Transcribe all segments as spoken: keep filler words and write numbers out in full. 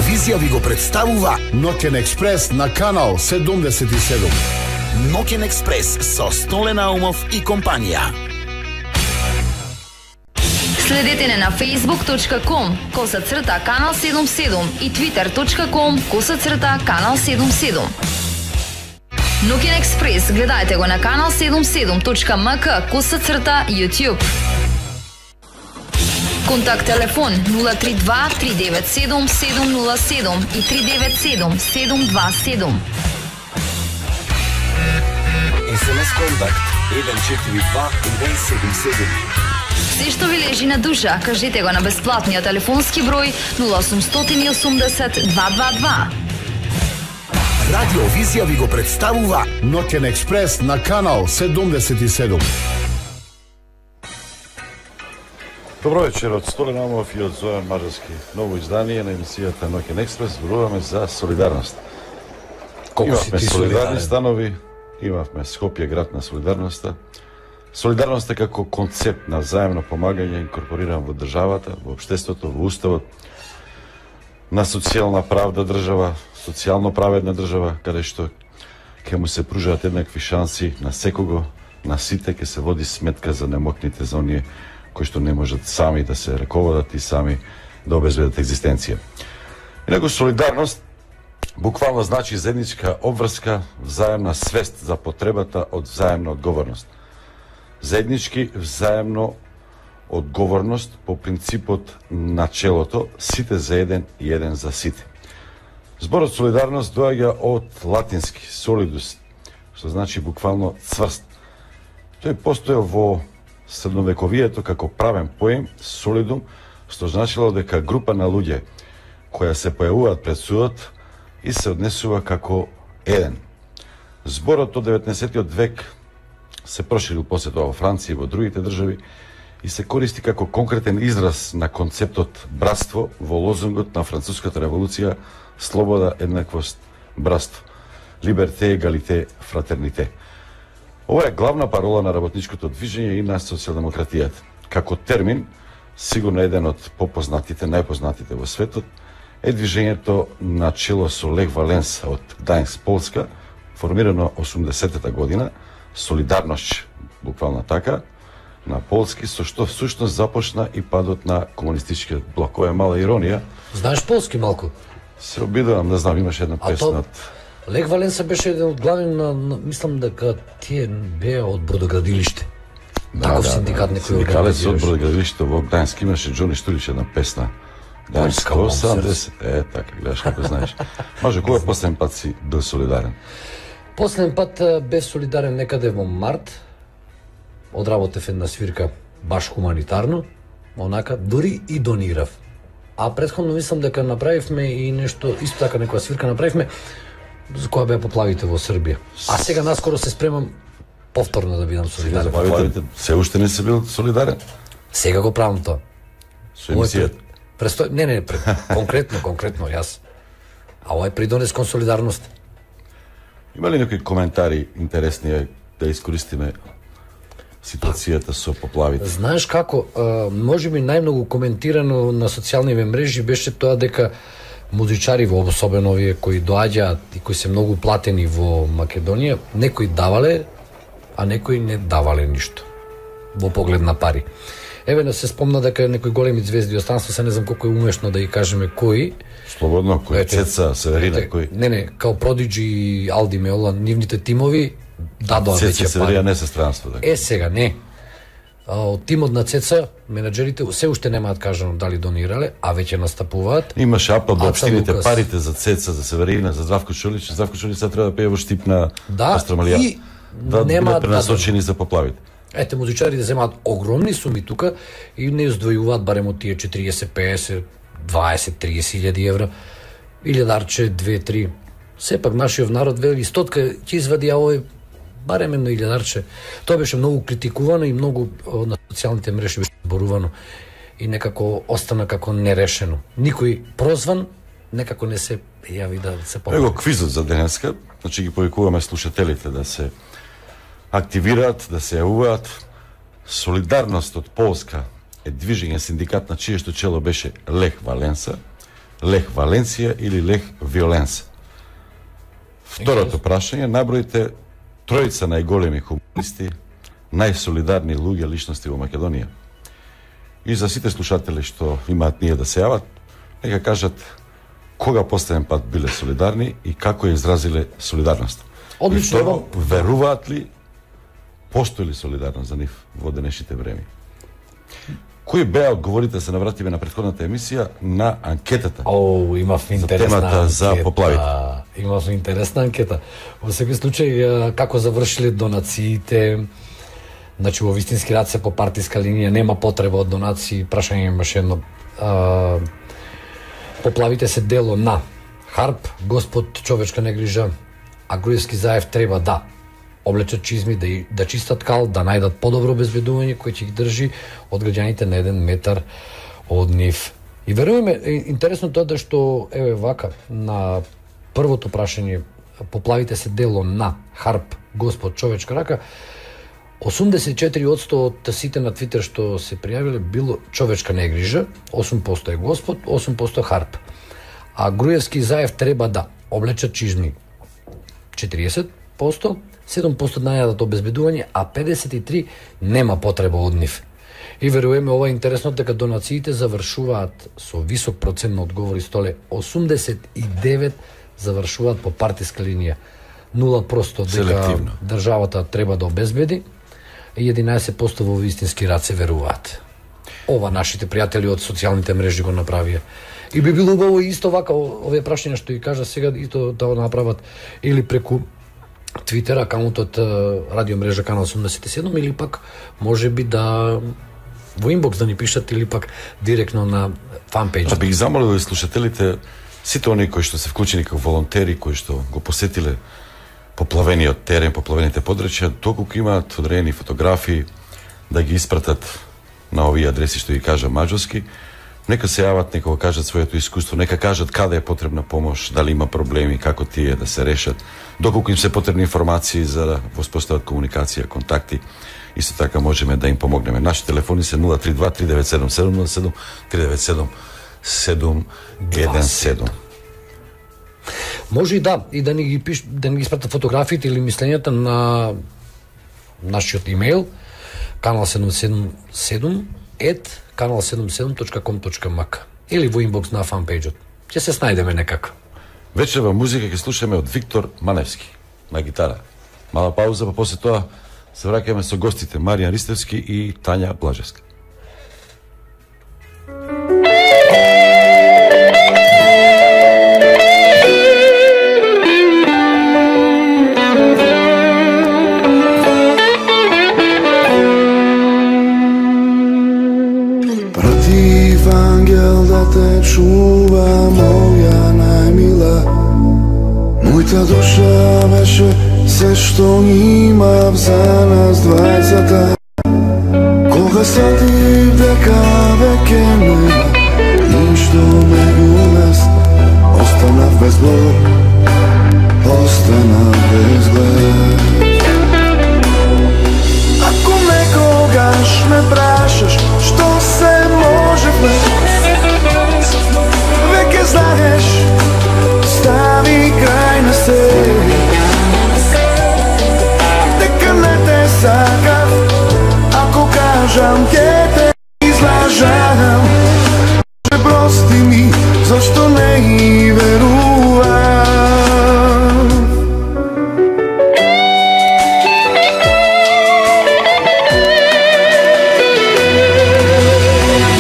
Радиовизија ви го представува Ноќен експрес на канал седумдесет и седум. Ноќен експрес со Столе Наумов и компанија. Следете не на facebook точка com коса црта канал седумдесет и седум и twitter точка com коса црта канал седумдесет и седум. Ноќен експрес гледајте го на канал седумдесет и седум точка ем ка коса црта YouTube. Контакт телефон нула три два три девет седум седум нула седум и три девет седум седум два седум. ес ем ес контакт еден четири два еден седум седум. Се што ви лежи на душа, кажете го на бесплатниот телефонски број нула осумстотини и осумдесет два два два. Радиовизија ви го представува Ноќен експрес на канал седумдесет и седум. Добро вечер од Столе Наумов и од Зојан Мажарски. Ново издание на емисијата Ноќен експрес. Зборуваме за солидарност. Колку си Имавме ти солидарни солидарен? станови, имавме Скопје град на солидарноста. Солидарноста како концепт на заемно помагање инкорпориран во државата, во општеството, во уставот, на социјална правда држава, социјално праведна држава, каде што ќе му се пружаат еднакви шанси на секого, на сите, ќе се води сметка за немокните, за оние кои што не можат сами да се раководат и сами да обезбедат екзистенција. Инаку солидарност буквално значи заедничка обврска, взаемна свест за потребата од взаемна одговорност. Заеднички взаемно одговорност по принципот начелото сите за еден и еден за сите. Зборот солидарност доаѓа од латински solidus, што значи буквално цврст. Тој постоел во средновековието како правен поем солидум, што значило дека група на луѓе која се појавуваат пред судот и се однесува како еден. Зборот од деветнаесеттиот век се проширил после тоа во Франција и во другите држави и се користи како конкретен израз на концептот братство во лозунгот на француската револуција слобода, еднаквост, братство. Либерте, егалите, фратерните. Ова е главна парола на работничкото движење и на социјалдемократијата. Како термин, сигурно еден од попознатите, најпознатите во светот, е движењето на чело со Лех Валенса од Гдајнск, Полска, формирано осумдесетата година, солидарност, буквално така, на полски, со што всушност започна и падот на комунистичкиот блок. Ова е мала иронија. Знаеш полски малку? Се обидувам, не знам, имаше една А песна то- од... Лех Валенса беше еден од главни на, на мислам дека тие беа од бродоградилиште. Таков синдикат некој Синдикалец од организираше. бродоградилиште во Гдајнск имаше Џони Штулич една песна. Поljska Гдајнск осамдесет. Е, така, гледаш како знаеш. Може, кој последен пат си бил солидарен? Последен пат а, бев солидарен некаде во март. Одработев една свирка баш хуманитарно, онака дури и донирав. А претходно мислам дека направивме и нешто, исто така некоја свирка направивме за која беа поплавите во Србија. А сега наскоро се спремам повторно да бидам солидарен. Заповедите, се уште не си бил солидарен Сега го правам тоа. со емисијата. Престо... Не, не, пред... конкретно, конкретно, јас. А овој придонес кон солидарност. Има ли некои коментари интересни да искористиме ситуацијата со поплавите? Знаеш како, а, може би најмногу коментирано на социјалните мрежи беше тоа дека музичари, во особено овие кои доаѓаат и кои се многу платени во Македонија, некои давале, а некои не давале ништо во поглед на пари. Еве не се спомна дека некои големи звезди останство, се не знам колку е умешно да ги кажеме кои. Слободно, кој Ете, Цеца, Северина, ете, кој? Не, не, као Продиджи и Алди Меола, нивните тимови дадоа Цеца веќе Северина пари. не се странство, така. Е, сега не. А, од тимот на Цеца, менаџерите се уште немаат кажано дали донирале, а веќе настапуваат. Имаше апел до Аца општините Лукас. парите за Цеца, за Северина, за Здравко Чулич. Здравко Чулич сега треба да пее во Штип на Да, Остромалија. и Да нема бидат да- пренасочени за поплавите. Ете, музичарите земаат огромни суми тука и не издвојуваат барем од тие четириесет, песет, дваесет, триесет илјади евра. Илјадарче, две, три. Сепак нашиот народ вели стотка ќе извади, а овој барем едно илјадарче. Тоа беше многу критикувано и многу о, на социјалните мрежи беше зборувано и некако остана како нерешено. Никој прозван некако не се јави да се помогне. Его квизот за денеска, значи ги повикуваме слушателите да се активираат, да се јавуваат. Солидарност од Полска е движење синдикат на чието чело беше Лех Валенса. Лех Валенсија или Лех Виоленса? Второто прашање, наброите тројца најголеми хумористи, најсолидарни луѓе личности во Македонија. И за сите слушатели што имаат ние да се јават, нека кажат кога последен пат биле солидарни и како ја изразиле солидарност. Одлично. И второ, веруваат ли постои ли солидарност за нив во денешните време? Кои беа одговорите, се навратиме на претходната емисија, на анкетата? О, имав интересна темата анкета. за поплавите. Имав интересна анкета. Во секој случај, како завршиле донациите, значи во вистински рад се по партиска линија, нема потреба од донации, прашање имаше едно. А, поплавите се дело на Харп, Господ човечка не грижа, а Груевски Заев треба да облечат чизми, да, да чистат кал, да најдат подобро обезбедување кој ќе ги држи од граѓаните на еден метар од нив. И веруваме, интересно тоа да што, еве вака, на првото прашање, поплавите се дело на Харп, Господ, човечка рака, осумдесет и четири одсто од сите на Твитер што се пријавиле било човечка не грижа, осум проценти е Господ, осум проценти Харп. А Груевски Заев треба да облечат чизми, четириесет проценти, седум проценти најдат обезбедување, а педесет и три нема потреба од нив. И веруваме, ова е интересно, дека донациите завршуваат со висок процент на одговори, столе осумдесет и девет завршуваат по партиска линија, нула проценти дека селективно државата треба да обезбеди и единаесет проценти во вистински рад се веруваат. Ова нашите пријатели од социјалните мрежи го направија. И би било убаво исто вака овие прашања што ги кажа сега исто да го направат или преку Твитер акаунтот радио мрежа канал седумдесет и седум или пак можеби да во инбокс да ни пишат или пак директно на фанпејџ. А би ги замолил и слушателите, сите оние кои што се вклучени како волонтери, кои што го посетиле поплавениот терен, поплавените подрачја, доколку имаат одредени фотографии, да ги испратат на овие адреси што ги кажа маđarски, нека се јават, нека го кажат своето искуство, нека кажат каде е потребна помош, дали има проблеми, како тие да се решат, доколку им се потребни информации за да воспостават комуникација, контакти. Исто така можеме да им помогнеме. Наши телефони се нула три два три девет седум седум нула седум три девет седум седум еден седум. Може и да, и да ни ги пиш, да ни ги испратат фотографиите или мислењата на нашиот имејл канал седумдесет и седум ет канал седумдесет и седум точка ком точка мак или во инбокс на фанпејџот. Ќе се снајдеме некако. Вечерва музика ќе слушаме од Виктор Маневски на гитара. Мала пауза, па после тоа се враќаме со гостите Маријан Ристевски и Тања Блажевска. Пратив ангел да те чува, моја најмила. Мојата душа беше се што имав за нас двајцата. Кога сатив дека веќе нема ништо меѓу нас, останав без Бог, останав без глед. Ако некогаш ме прашаш што се можевме, веќе знаеш, стави крај на се. Дека не те сакав, ако кажам ке те излажам. Може прости ми, зашто не и верувам.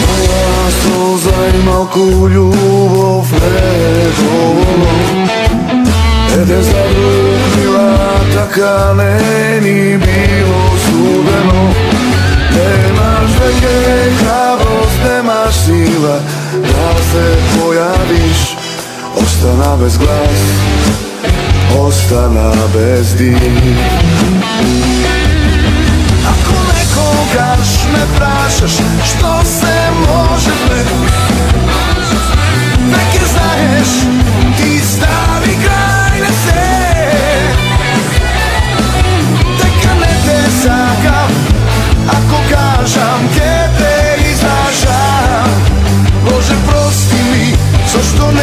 Моја солза и малку љубов не доволно. Еден за друг мила, така не ни било судено. Немаш веќе храброст, немаш сила да се појавиш. Остана без глас, остана без дим. Ако некогаш ме прашаш што се можевме, веќе знаеш, ти стави крај на се. Дека не те сакам, ако кажам ке те излажам. Боже прости ми, зашто не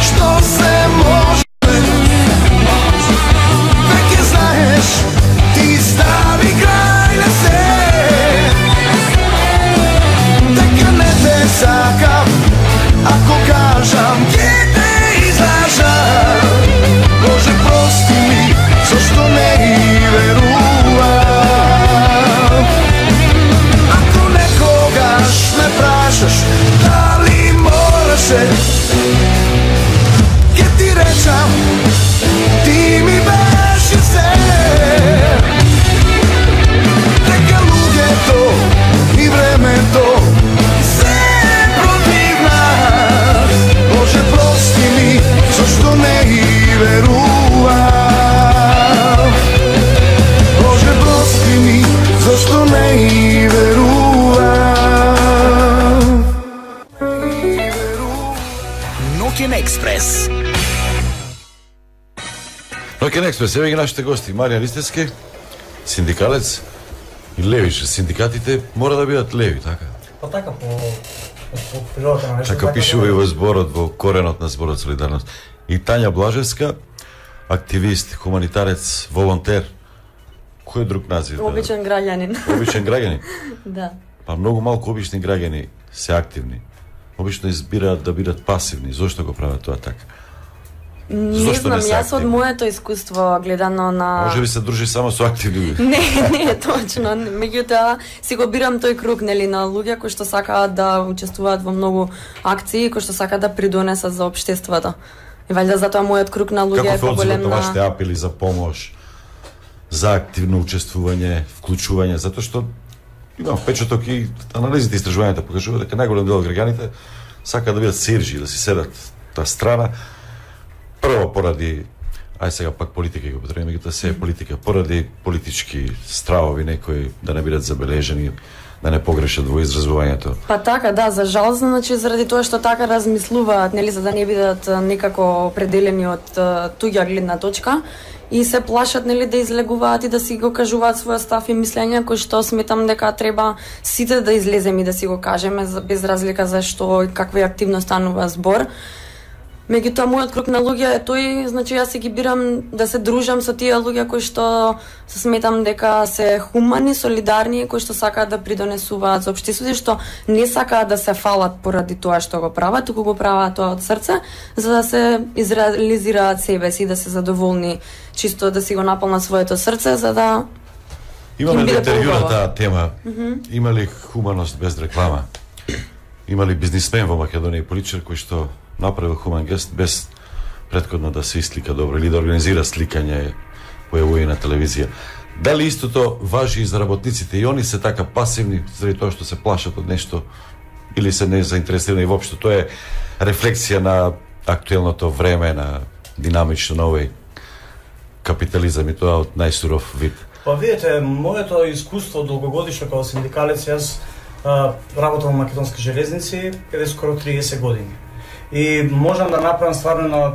што се може. Веќе знаеш, ти стави крај на се. Дека не те сакам, ако кажам ќе те излажам. Боже, прости ми, зашто не и верувам. Ако некогаш ме прашаш дали мораше, ќе ти речам, ти ми беше се. Дека луѓето и времето се против нас. Боже, прости ми, зашто не и верувам. Боже, прости ми, зашто не и верувам. Ноќен експрес. Ноќен експрес, еве ги нашите гости. Марија Ристевски, синдикалец и левиш. Синдикатите мора да бидат леви, така? Па така, по, по природата на нешто. Така пишува и во зборот, во коренот на зборот Солидарност. И Тања Блажевска, активист, хуманитарец, волонтер. Кој друг назив? Обичен граѓанин. Обичен граѓанин? Да. Па многу малку обични граѓани се активни. Обично избираат да бидат пасивни. Зошто го прават тоа така? Не Зошто знам, не се јас од активни? моето искуство гледано на... Може би се дружи само со активни луѓе. Не, не е точно. Меѓутоа, си го бирам тој круг, нели, на луѓе кои што сакаат да учествуваат во многу акции, кои што сакаат да придонесат за општеството. И валјда затоа мојот круг на луѓе е Како се поголем одзиват на на... вашите апели за помош, за активно учествување, вклучување, затоа што имам впечаток и анализите и истражувањата покажуваат дека најголем дел од граѓаните сакаат да бидат сирџи, да си седат та страна. Прво поради, ај сега пак политика го потребаме, меѓутоа се е политика, поради политички стравови некои да не бидат забележени, да не погрешат во изразувањето. Па така, да, за жал, значи заради тоа што така размислуваат, нели, за да не бидат а, некако определени од а, туѓа гледна точка и се плашат, нели, да излегуваат и да си го кажуваат својот став и мислење, кој што сметам дека треба сите да излеземе и да си го кажеме за- без разлика за што и каква е активно станува збор. Меѓутоа, мојот круг на луѓе е тој, значи јас си ги бирам да се дружам со тие луѓе кои што се сметам дека се хумани, солидарни, кои што сакаат да придонесуваат за општеството, што не сакаат да се фалат поради тоа што го прават, туку го прават тоа од срце, за да се изреализираат себе си, да се задоволни, чисто да си го наполнат своето срце, за да Имаме Им да биде интервјура поубаво. таа тема. Има ли хуманост без реклама? Има ли бизнисмен во Македонија и политичар кој што направил хуман гест без претходно да сеислика добро или да организира сликање, појавување на телевизија? Дали истото важи и за работниците и они се така пасивни заради тоа што се плашат од нешто или се не заинтересирани воопшто? Тоа е рефлексија на актуелното време, на динамично на овој капитализам и тоа од најсуров вид. Па видите, моето искуство долгогодишно како синдикалец, јас а, работам во Македонски железници каде скоро триесет години. И можам да направам стварно на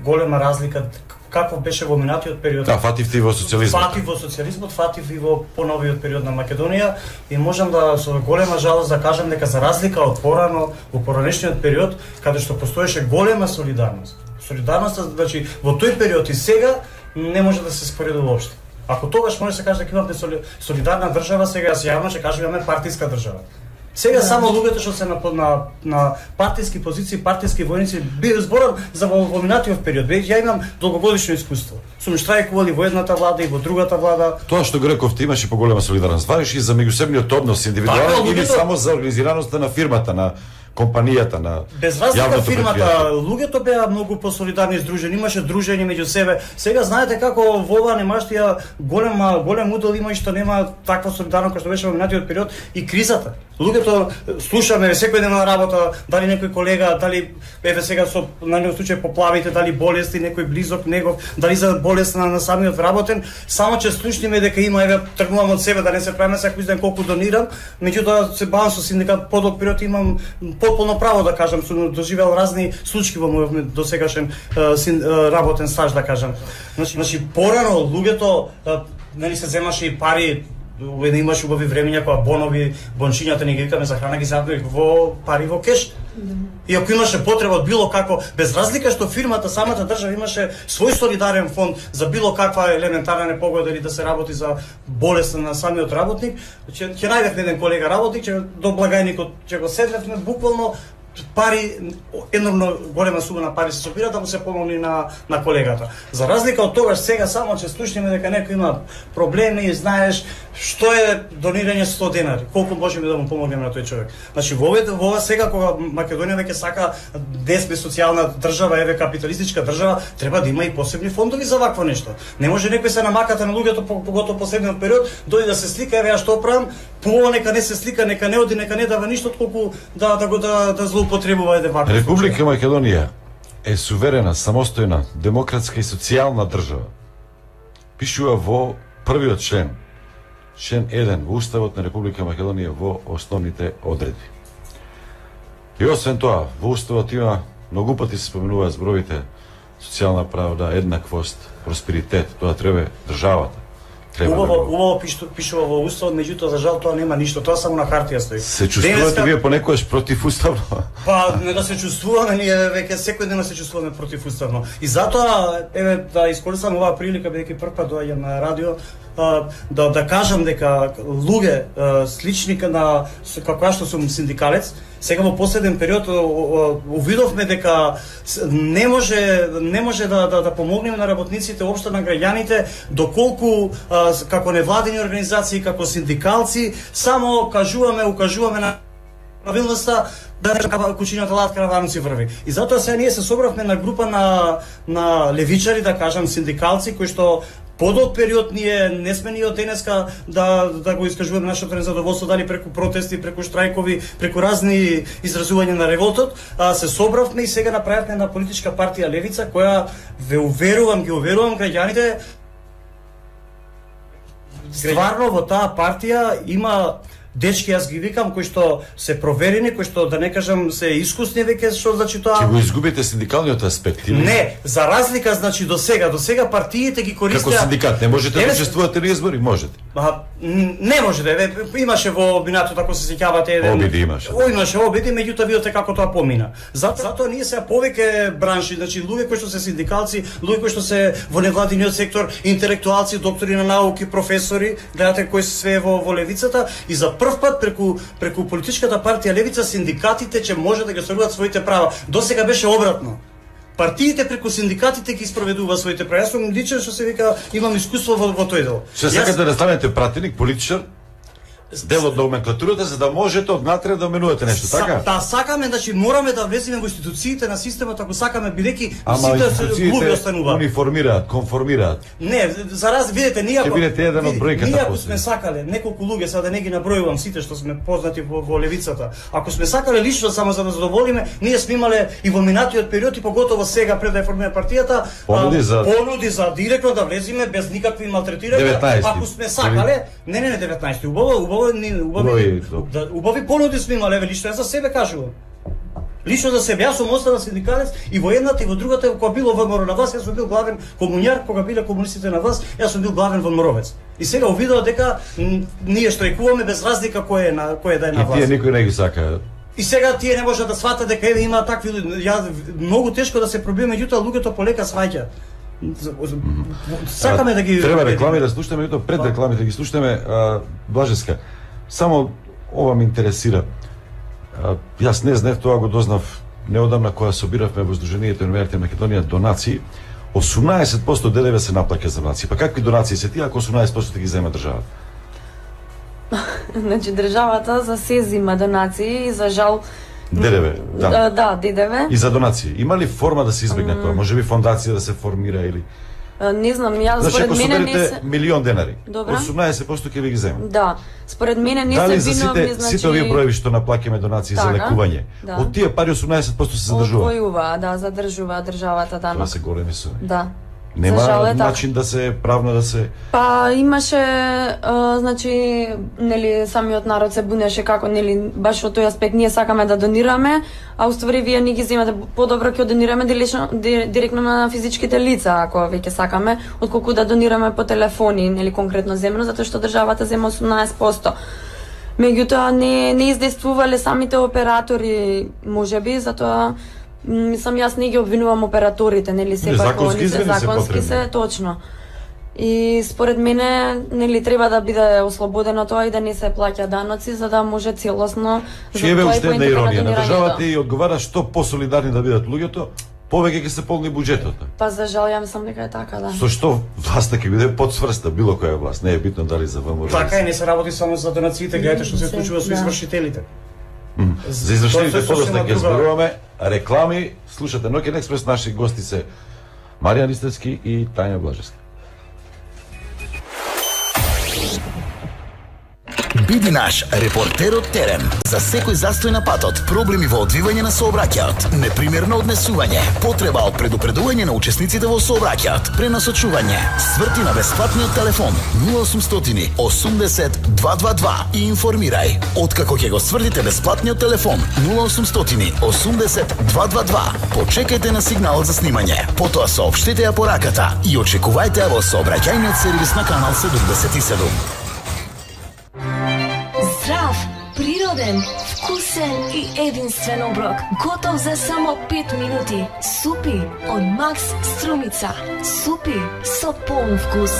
голема разлика какво беше во минатиот период. Да, фатив ти во социјализмот. Фатив во социјализмот, фатив и во поновиот период на Македонија и можам да со голема жалост да кажам дека за разлика од порано, во поранешниот период, каде што постоеше голема солидарност. Солидарноста, значи, во тој период и сега не може да се споредува воопшто. Ако тогаш може да се каже дека имавме соли... солидарна држава, сега јас јавно ќе кажам имаме партиска држава. Сега само луѓето што се на, на, на партиски позиции, партиски војници, би зборам за во, во минатиот период. Ја имам долгогодишно искуство. Сум штрајкували во едната влада и во другата влада. Тоа што го рековте имаше поголема солидарност. Вариш и за меѓусебниот однос индивидуален Така, или луѓето- само за организираноста на фирмата, на компанијата, на Без разлика јавното фирмата, предпријатие? луѓето беа многу посолидарни здружени, имаше дружење меѓу себе. Сега знаете како во ова немаштија голема голем удел има и што нема таква солидарност која што беше во минатиот период и кризата. Луѓето слушаме секој ден на работа, дали некој колега, дали еве сега со на некој случај поплавите, дали болести некој близок негов, дали за болест на, на самиот работен, само че слушниме дека има еве тргнувам од себе да не се правиме секој ден колку донирам, меѓутоа се бавам со синдикат подолг период имам потполно право да кажам, сум доживел разни случаи во мојот досегашен е, син, е, работен стаж да кажам. Значи, значи порано луѓето е, нели се земаше и пари Уведнаш имаш убави времења кога бонови, бончињата не ги викаме за храна, ги запнеме во пари во кеш. И ако имаше потреба од било како, без разлика што фирмата, самата држава имаше свој солидарен фонд за било каква елементарна непогода или да се работи за болест на самиот работник, ќе ќе најдевме еден колега работник, ќе до благајникот ќе го седневме буквално пари, енормно голема сума на пари се собира да му се помогне на на колегата. За разлика од тогаш сега само че слушнеме дека некој има проблеми и знаеш што е донирање сто денари, колку можеме да му помогнеме на тој човек. Значи во овој во ова сега кога Македонија веќе сака да сме социјална држава, еве капиталистичка држава, треба да има и посебни фондови за вакво нешто. Не може некој се намаката на луѓето поготово последниот период, дојде да се слика, еве ја што правам, пово нека не се слика, нека не оди, нека не дава ништо, колку да да го да да злоупотребува еден ваков. Република Македонија е суверена, самостојна, демократска и социјална држава. Пишува во првиот член, член еден во Уставот на Република Македонија во основните одредби. И освен тоа, во Уставот има многу пати се споменуваат зборовите социјална правда, еднаквост, просперитет, тоа треба државата. Убаво, убаво пишува во Уставот, меѓутоа за жал тоа нема ништо, тоа само на хартија стои. Се чувствувате Денеска... вие понекогаш противуставно? Па не да се чувствуваме, ние веќе секој ден се чувствуваме противуставно. И затоа еве да искористам оваа прилика бидејќи прв пат доаѓам на радио, да да кажам дека луѓе слични на како што сум синдикалец, сега во последен период увидовме дека не може не може да да, да помогнеме на работниците, општо на граѓаните, доколку како невладени организации, како синдикалци, само кажуваме, укажуваме на правилноста да не кучињата лад караваници врви. И затоа сега ние се собравме на група на на левичари, да кажам синдикалци, кои што подолг период ние не сме ние од денеска да да го искажуваме нашето незадоволство, дали преку протести, преку штрајкови, преку разни изразувања на револтот, а се собравме и сега направивме една политичка партија Левица, која ве уверувам, ги уверувам граѓаните, стварно во таа партија има дечки, јас ги викам, кои што се проверени, кои што да не кажам се искусни веќе, што значи тоа. Ќе го изгубите синдикалниот аспект или? Не, за разлика значи до сега, до сега партиите ги користеа. Како синдикат не можете да учествувате на избори, можете. Ба, не можете, еве имаше во минатото, ако се сеќавате еден. Обиди имаше. О, имаше обиди, меѓутоа видите како тоа помина. Затоа, затоа ние сега повеќе бранши, значи луѓе кои што се синдикалци, луѓе кои што се во невладиниот сектор, интелектуалци, доктори на науки, професори, гледате кои се све во во левицата и за прв пат преку преку политичката партија Левица синдикатите ќе може да ги остваруваат своите права. До сега беше обратно. Партиите преку синдикатите ги спроведува своите права. Јас сум личен што се вика, имам искуство во, во тој дел. Што сакате да станете пратеник, политичар? Дел од номенклатурата за да можете однатре да менувате нешто, така? Да, сакаме, значи мораме да влеземе во институциите на системот, ако сакаме, бидејќи сите глуби остануваат. Униформираат, конформираат. Не, за раз видите, ние ако бидете еден од бројката. Ние ако сме сакале неколку луѓе, сега да не ги набројувам сите што сме познати во, во левицата. Ако сме сакале лично само за да задоволиме, ние сме имале и во минатиот период и поготово сега пред да ја формираме партијата, понуди за понуди за директно да влеземе без никакви малтретирања. Ако сме сакале, не не не деветнаесети, убаво, убаво убави, да, убави понуди сме имале, еве лично за себе кажувам. Лично за себе, јас сум остана синдикалец и во едната и во другата, кога било ВМРО на власт, јас сум бил главен комуњар, кога биле комунистите на власт, јас сум бил главен ВМРовец. И сега увидов дека ние штрајкуваме без разлика кој е на кој е да е на власт. И тие никој не ги сака. И сега тие не можат да сватат дека еве има такви, ја многу тешко да се пробие, меѓутоа луѓето полека сваќаат. Сакаме да ги треба реклами да слушаме, меѓутоа пред рекламите ги слушаме. Блажеска, само ова ме интересира. А, јас не знаев, тоа го дознав неодамна кога собиравме во Сдруженијето на универзитетите Македонија донации. осумнаесет проценти ДДВ се наплаќа за донации. Па какви донации се тие ако осумнаесет проценти ги зема државата? Значи државата за се зема донации и за жал ДДВ, да. Да, да, ДДВ. И за донации. Има ли форма да се избегне mm. тоа? Може би фондација да се формира или не знам, јас значи, според мене не се милион денари. Добра. осумнаесет проценти ќе ви ги зема. Да. Според мене не дали се виновни, сите, значи сите овие броеви што наплаќаме донации така, за лекување. Да. Од тие пари осумнаесет проценти се задржува. Одвојува, да, задржува државата данок. Тоа се големи суми. Да. Нема жал е начин да се правно да се Па имаше, а, значи, нели самиот народ се бунеше како нели баш во тој аспект ние сакаме да донираме, а уствари вие ни ги земате подобро ќе донираме директно, директно на физичките лица ако веќе сакаме, отколку да донираме по телефони, нели конкретно земно, затоа што државата зема осумнаесет проценти. Меѓутоа не не издействувале самите оператори, можеби, затоа мислам јас не ги обвинувам операторите, нели сепак законски се законски се точно. И според мене нели треба да биде ослободено тоа и да не се плаќа даноци за да може целосно Чие бе уште една иронија на државата и одговара што посолидарни да бидат луѓето, повеќе ќе се полни буџетот. Па за жал ја мислам дека е така, да. Со што власта ќе биде подсврста било која власт, не е битно дали за ВМРО. Така и не се работи само за донациите, гледате што се случува со извршителите. За извршителите подоцна ќе зборуваме, реклами, слушате Ноќен експрес, наши гости се Марија Нистевски и Тања Блажевска. Биди наш репортер од терен за секој застој на патот, проблеми во одвивање на сообраќајот, непримерно однесување, потреба од предупредување на учесниците во сообраќајот, пренасочување, сврти на бесплатниот телефон нула осумстотини осумдесет дваесет дваесет два и информирај. Откако ќе го свртите бесплатниот телефон нула осумстотини осумдесет дваесет дваесет два, почекајте на сигналот за снимање, потоа соопштете ја пораката и очекувајте ја во сообраќајниот сервис на канал седумдесет и седум. Здрав, природен, вкусен и единствен оброк. Готов за само пет минути. Супи од Макс Струмица. Супи со полн вкус.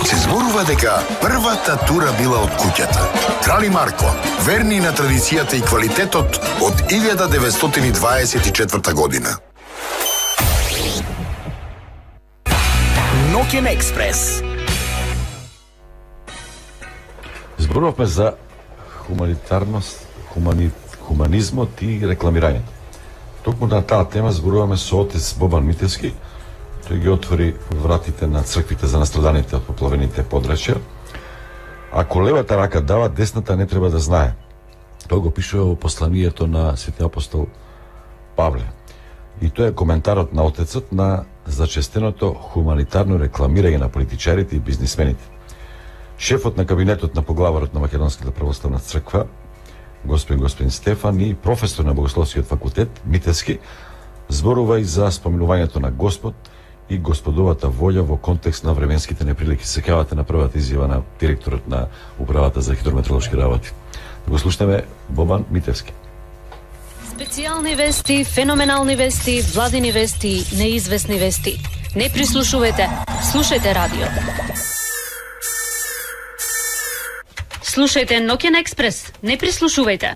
Се зборува дека првата тура била од куќата. Крали Марко, верни на традицијата и квалитетот од илјада деветстотини дваесет и четврта година. Ноќен експрес. Зборувавме за хуманитарност, хумани, хуманизмот и рекламирањето. Токму на таа тема зборуваме со отец Бобан Митевски. Тој ги отвори вратите на црквите за настраданите од поплавените подрачја. Ако левата рака дава, десната не треба да знае. Тоа го пишува во посланието на свети апостол Павле. И тоа е коментарот на отецот на зачестеното хуманитарно рекламирање на политичарите и бизнисмените. Шефот на кабинетот на поглаварот на Македонската православна црква, господин господин Стефан и професор на Богословскиот факултет Митевски зборува и за споминувањето на Господ и Господовата волја во контекст на временските неприлики. Сеќавате на првата изјава на директорот на управата за хидрометеоролошки работи. Да го слушнеме Бобан Митевски. Специјални вести, феноменални вести, владини вести, неизвестни вести. Не прислушувате, слушајте радио. Слушајте Ноќен експрес, не прислушувајте.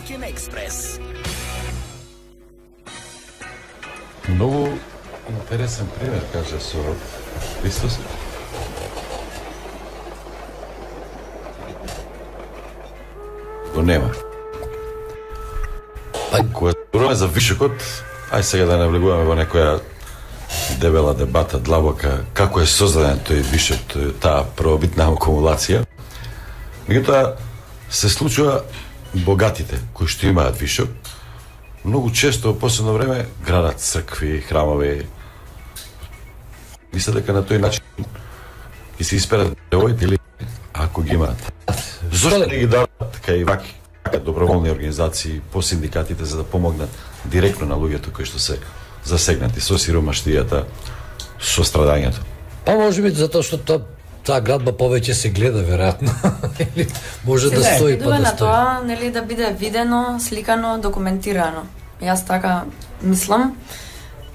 Ноќен експрес. Многу интересен пример, каже со Христос. Го нема. Па, кога зборуваме за вишокот, ај сега да не влегуваме во некоја дебела дебата, длабока, како е создаден тој вишок, тој, таа првобитна акумулација. Меѓутоа, се случува богатите, кои што имаат вишок, многу често во последно време градат цркви, храмови. Мисля дека на тој начин и се исперат девојите или ако ги имаат. Зошто не ги дадат така и ваки, така доброволни организации по синдикатите за да помогнат директно на луѓето кои што се засегнати со сиромаштијата, со страдањето? Па може би затоа што тоа таа градба повеќе се гледа веројатно. Или може да стои па да на стои. тоа, нели, да биде видено, сликано, документирано. Јас така мислам.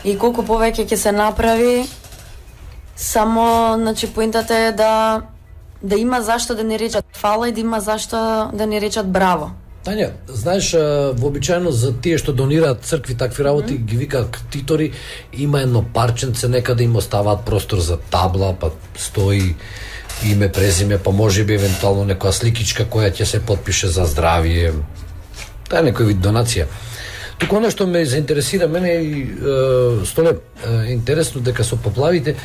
И колку повеќе ќе се направи, само, значи, поинтата е да да има зашто да не речат фала и да има зашто да не речат браво. Тања, знаеш, вообичаено за тие што донираат цркви такви работи, mm-hmm. ги викаат ктитори, има едно парченце, некаде им оставаат простор за табла, па стои име, презиме, па може би евентуално некоја сликичка која ќе се потпише за здравие. Тоа е некој вид донација. Туку оно што ме заинтересира мене и е, Столе, е интересно дека со поплавите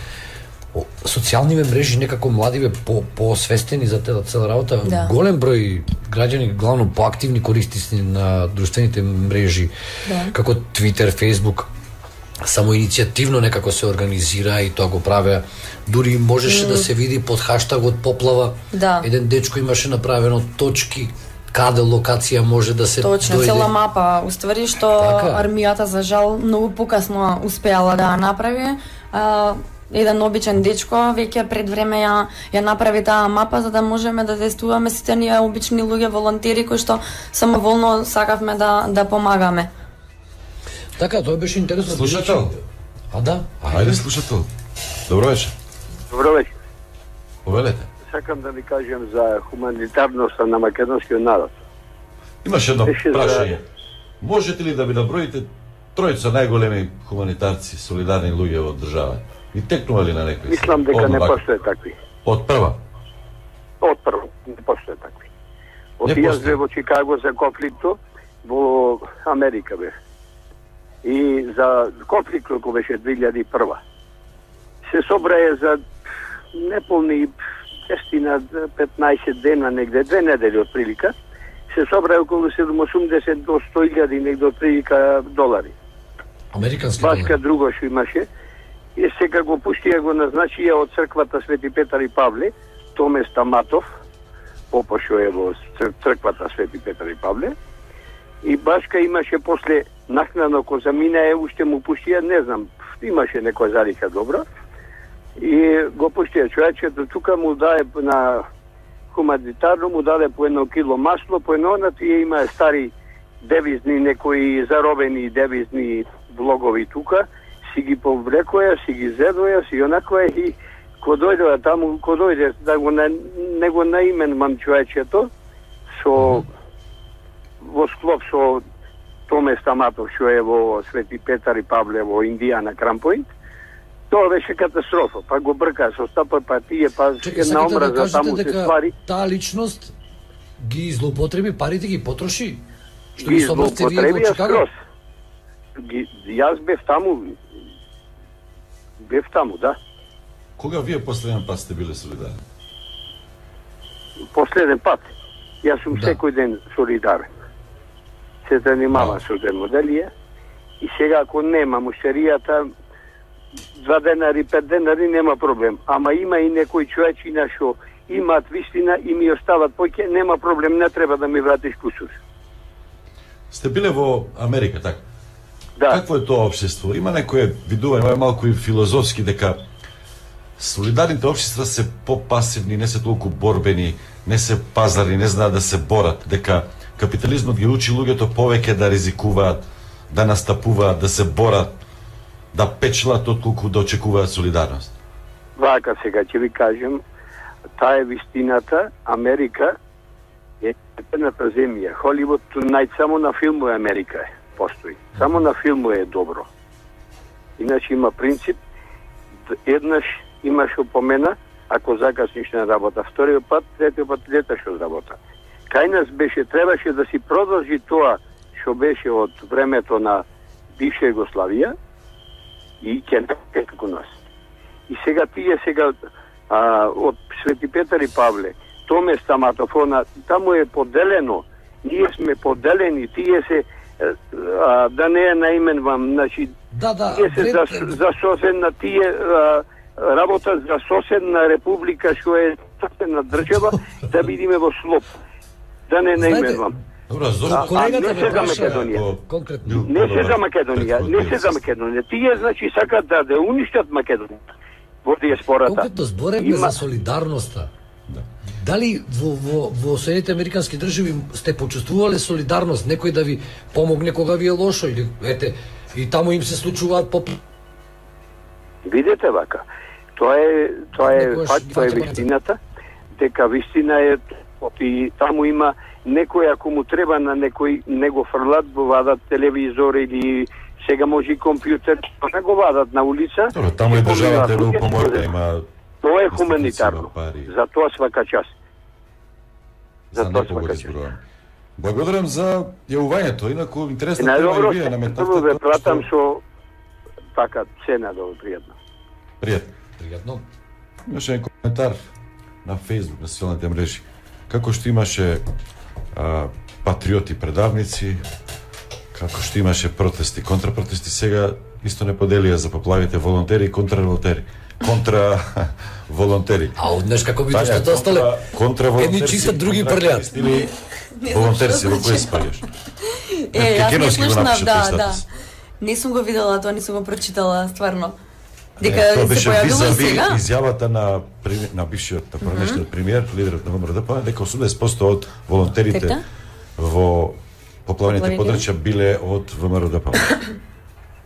социјалниве мрежи некако младиве по поосвестени за таа цела работа. Да. Голем број граѓани, главно поактивни користници на друштveните мрежи, да. како Twitter, Facebook, само иницијативно некако се организира и тоа го правеа. Дури можеше mm. да се види под хаштагот поплава. Да. Еден дечко имаше направено точки каде локација може да се Точно, дојде. цела мапа, уствари што Така. армијата за жал многу покасно успеала да ја направи. А, еден обичен дечко веќе пред време ја ја направи таа мапа за да можеме да действуваме сите ние обични луѓе волонтери кои што самоволно сакавме да да помагаме. Така, тоа беше интересно. Слушател. А да? Ајде слушател. Добро вечер. Добро вечер. Повелете. Сакам да ви кажем за хуманитарноста на македонскиот народ. Имаш едно Беше прашање. за- Можете ли да ви наброите тројца најголеми хуманитарци, солидарни луѓе во државата? И текнували на некој? Мислам дека Од не вака. постоje такви. Од прва? Од прво, не постоje такви. Од Не јас постои. бе во Чикаго за конфликто, во Америка бе. И за конфликтот кој беше две илјади и прва. Се собрае за неполни десет на петнаесет дена негде, две недели од прилика, се собрае околу седумдесет до сто илјади негде од прилика долари. Американски Башка друго што имаше. И сега го пуштија, го назначија од црквата Свети Петар и Павле, Томе Стаматов, попа што е во цр- црквата Свети Петар и Павле. И Башка имаше после накнадно ко заминае, уште му пуштија, не знам, имаше некоја залика добра. И го пуштија човечето, тука му даде на хуманитарно, му даде по едно кило масло, по едно на тие има стари девизни, некои заробени девизни влогови тука, си ги повлекоја, си ги зедоја, си онаква и ко дојде таму, ко дојде да го на, не го наименмам човечето со во склоп со Томе Стаматов што е во Свети Петар и Павле во Индијана Крампоинт, тоа беше катастрофа, па го брка со стапа, па тие, па Чекай, една сакате да омраза кажете таму се дека ствари. таа личност ги злоупотреби, парите ги потроши? Што Ги ги собравте вие во злоупотребија Чикаго? скроз. Ги, јас бев таму, бев таму, да. Кога вие последен пат сте биле солидарни? Последен пат. Јас сум Да. секој ден солидарен. Се занимавам со демоделија и сега ако нема муштеријата два денари, пет денари нема проблем. Ама има и некои човечина што имаат вистина и ми остават поќе, нема проблем, не треба да ми вратиш кусур. Сте биле во Америка, така? Да. Какво е тоа општество? Има некое видување, ова е малку и филозофски, дека солидарните општества се попасивни, не се толку борбени, не се пазарни, не знаат да се борат, дека капитализмот ги учи луѓето повеќе да ризикуваат, да настапуваат, да се борат, да печелат отколку да очекуваат солидарност. Вака сега ќе ви кажем, таа е вистината. Америка Едната земја, Холивуд, најд само на филмови Америка е, постои. Само на филмови е добро. Иначе има принцип, еднаш имаш опомена, ако закасниш на работа, вториот пат, третиот пат леташ од работа. Кај нас беше, требаше да си продолжи тоа што беше од времето на бивша Југославија и ќе не како нас. И сега тие сега а, од Свети Петар и Павле, Томе Стаматофона, таму е поделено, ние сме поделени, тие се, а, да не е наименвам, значи, да, да, тие се за, за соседна, тие а, работа за соседна република, што е соседна држава, да бидиме во слоп. Да не наименвам. Добро, а, а не се за Македонија. Не се за Македонија, не се за Македонија. Тие, значи, сакат да да уништат Македонија во диаспората. Колкото зборевме Има... за солидарноста, да. Дали во, во, во Соединените Американски држави сте почувствувале солидарност, некој да ви помогне кога ви е лошо или ете и таму им се случуваат по Видете вака. Тоа е тоа е факт, тоа е вистината, дека вистина е и таму има некој ако му треба на некој него фрлат го вадат телевизор или сега може и компјутер, не го вадат на улица. Добро, таму и државата е помогна, има тоа е хуманитарно. За тоа свака час. За, за тоа свака час. Благодарам за јавувањето, инаку интересна тема и вие наметнавте. Најдобро ве пратам со така цена да пријатно. Пријатно. Пријатно. Имаше еден коментар на Facebook, на социјалните мрежи. Како што имаше а, патриоти предавници, како што имаше протести, контрапротести, сега исто не поделија за поплавите волонтери и контраволонтери. Контра волонтери. А однеш како видиш што остале? Контра волонтери. Едни чистат, други прљат. Или волонтерси во кој спаѓаш? Е, јас не слушнав, да, да. Не сум го видела, тоа не сум го прочитала, стварно. Дека е, се појавило и сега? Изјавата на на бившиот премиер, премиер, лидерот на ВМРО, дека осумдесет проценти од волонтерите Ета? во поплавените подрачја биле од ВМРО.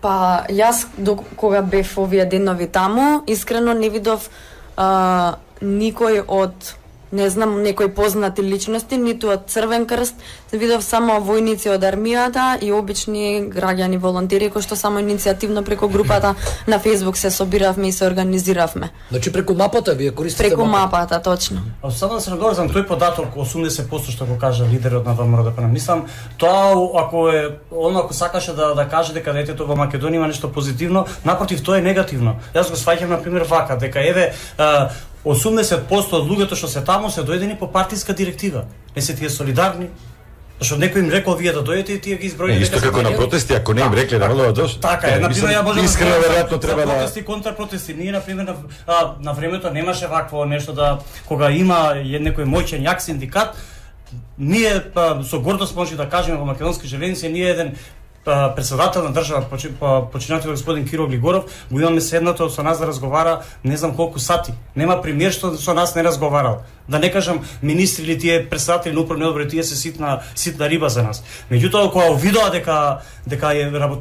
Па јас до кога бев овие денови таму, искрено не видов а, никој од не знам, некои познати личности, ниту од Црвен крст, видов само војници од армијата и обични граѓани волонтери кои што само иницијативно преку групата на Facebook се собиравме и се организиравме. Значи преку мапата вие користите преку мапата, точно. А само да се надоврзам тој податок осумдесет проценти што го кажа лидерот на ВМРО. Мислам, тоа ако е он ако сакаше да да каже дека детето во Македонија има нешто позитивно, напротив тоа е негативно. Јас го сваќам на пример вака, дека еве осумдесет проценти од луѓето што се таму се дојдени по партиска директива. Не се тие солидарни. Зашто некој им рекол вие да дојдете и тие ги изброиле. Исто како на протести, ако не им рекле да не дојдат. Така е, на пример ја можам искрено веројатно треба да протести, контрапротести. Ние на пример на, а, на времето немаше вакво нешто да кога има некој моќен јак синдикат, ние па, со гордост може да кажеме во Македонски железници, ние еден председател на држава, починател господин Киро Глигоров, го имаме седнато со нас да разговара не знам колку сати. Нема премиер што со нас не разговарал. Да не кажам министри или тие председатели на управни одбори, тие се ситна ситна риба за нас. Меѓутоа кога увидоа дека дека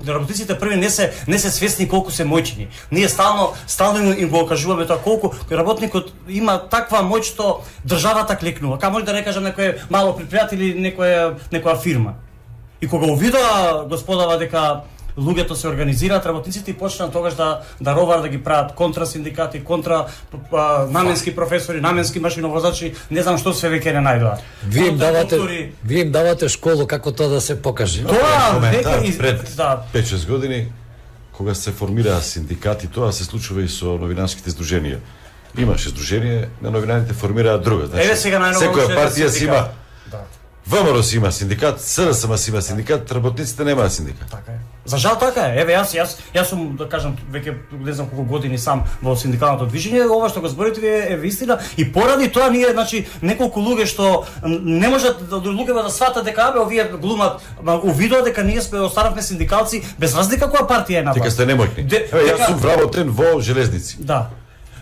работниците први не се не се свесни колку се моćни. Ние стално стално им го кажуваме тоа колку работникот има таква моќ што државата клекнува. Ка може да не кажам некој мало предпријател или некоја некоја фирма. И кога увидоа господава дека луѓето се организираат, работниците и почнаа тогаш да да ровар да ги прават контра синдикати, контра а, наменски професори, наменски машиновозачи, не знам што се веќе не најдоа. Вие им давате доктори... вие им давате школо како тоа да се покаже. Тоа веќе из... пред да. пет-шест години кога се формираа синдикати, тоа се случува и со новинарските здруженија. Имаше здружение, на новинарите формираа друга. Значи, еве сега најново секоја партија си има ВМРО си има синдикат, СДСМ си има синдикат, работниците немаат синдикат. Така е. За жал така е. Еве јас јас јас сум да кажам веќе не знам колку години сам во синдикалното движење, ова што го зборите е, е вистина и поради тоа ние значи неколку луѓе што не можат да луѓето да сватат дека абе овие глумат увидоа дека ние сме останавме синдикалци без разлика која партија е на власт. Дека сте немотни. Де, еве јас сум вработен во железници. Да.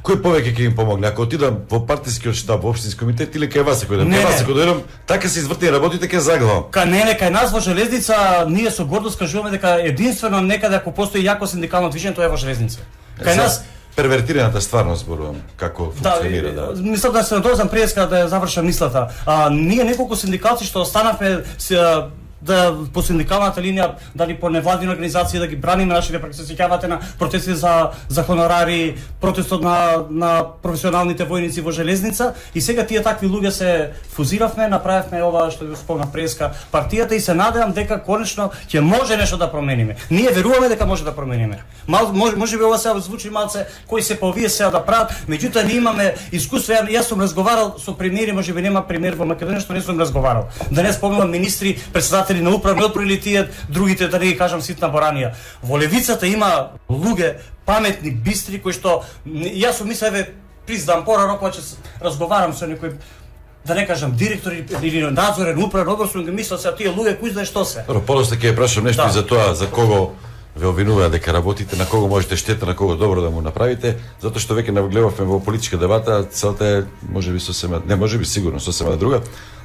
Кој повеќе ќе им помогне? Ако отидам во партискиот штаб, во општински комитет или кај вас кој да кај вас кој дојдам, така се извртени работите ќе заглавам. Ка не не кај нас во железница ние со гордост кажуваме дека единствено некаде ако постои јако синдикално движење тоа е во железница. Кај нас первертираната стварност зборувам, како функционира, да. Да, мислам да се надозам преска да ја завршам мислата. А ние неколку синдикати што останавме да по синдикалната линија, дали по невладини организации да ги браниме нашите, прак се сеќавате на протести за за хонорари, протестот на на професионалните војници во железница, и сега тие такви луѓе се фузиравме, направивме ова што ви спомна преска партијата, и се надевам дека конечно ќе може нешто да промениме. Ние веруваме дека може да промениме. Мал може можеби ова сега звучи малце кои се по овие сега да прават, меѓутоа ние имаме искуство. Јас сум разговарал со премиери, можеби нема премиер во Македонија што не сум разговарал. Да не спомнам министри, председатели на управни одбори или тие другите, да не ги кажам ситна боранија. Во левицата има луѓе паметни, бистри, кои што јас сум мислев, еве признам порано кога ќе разговарам со некој, да не кажам директор или надзорен управен одбор, сум ги мислел се тие луѓе кои знаат што се. Добро, после ќе ја прашам нешто да. И за тоа за кого ве обвинуваат дека работите, на кого можете штета, на кого добро да му направите, затоа што веќе навлегувавме во политичка дебата, целта е можеби сосема, не можеби сигурно сосема друга,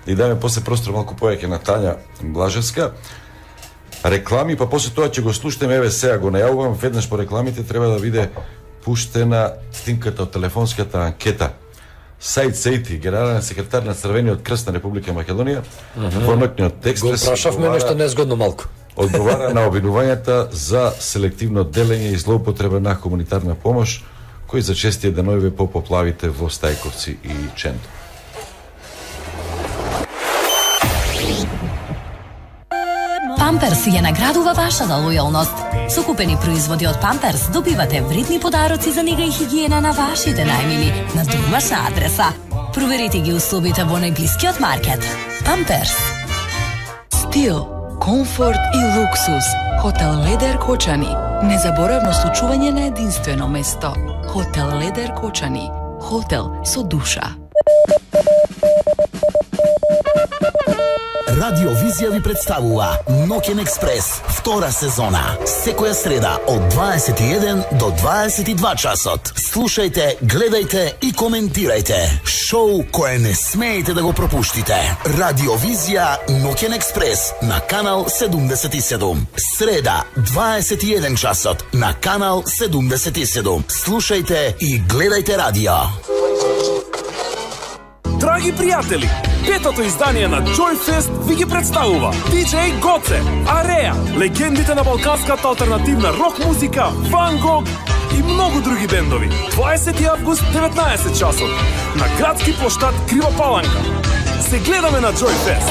да и даме после простор малку повеќе на Тања Блажевска. Реклами, па после тоа ќе го слушнеме, еве сега го најавувам, веднаш по рекламите треба да биде пуштена снимката од телефонската анкета. Саид Сејти, генерален секретар на Црвениот крст на Република Македонија, во ноќниот експрес го прашавме нешто незгодно малку. Одговара на обвинувањата за селективно делење и злоупотреба на хуманитарна помош, кои зачестија денови по поплавите во Стајковци и Чендо. Памперс ја наградува вашата лојалност. Со купени производи од Памперс добивате вредни подароци за нега и хигиена на вашите најмили на домашна адреса. Проверете ги условите во најблискиот маркет. Памперс. Стил, комфорт и луксус. Хотел Ледер Кочани. Незаборавно случување на единствено место. Хотел Ледер Кочани. Хотел со душа. Радиовизија ви представува Ноќен експрес, втора сезона. Секоја среда од дваесет и еден до дваесет и два часот. Слушајте, гледајте и коментирајте. Шоу кое не смеете да го пропуштите. Радиовизија Ноќен експрес на канал седумдесет и седум. Среда, дваесет и еден часот на канал седумдесет и седум. Слушајте и гледајте радио. Драги пријатели, петото издание на Joyfest ви ги представува диџеј Гоце, Ареа, легендите на балканската алтернативна рок музика, Ван Гог и многу други бендови. дваесети август, деветнаесет часот, на градски плоштад Крива Паланка. Се гледаме на Joyfest.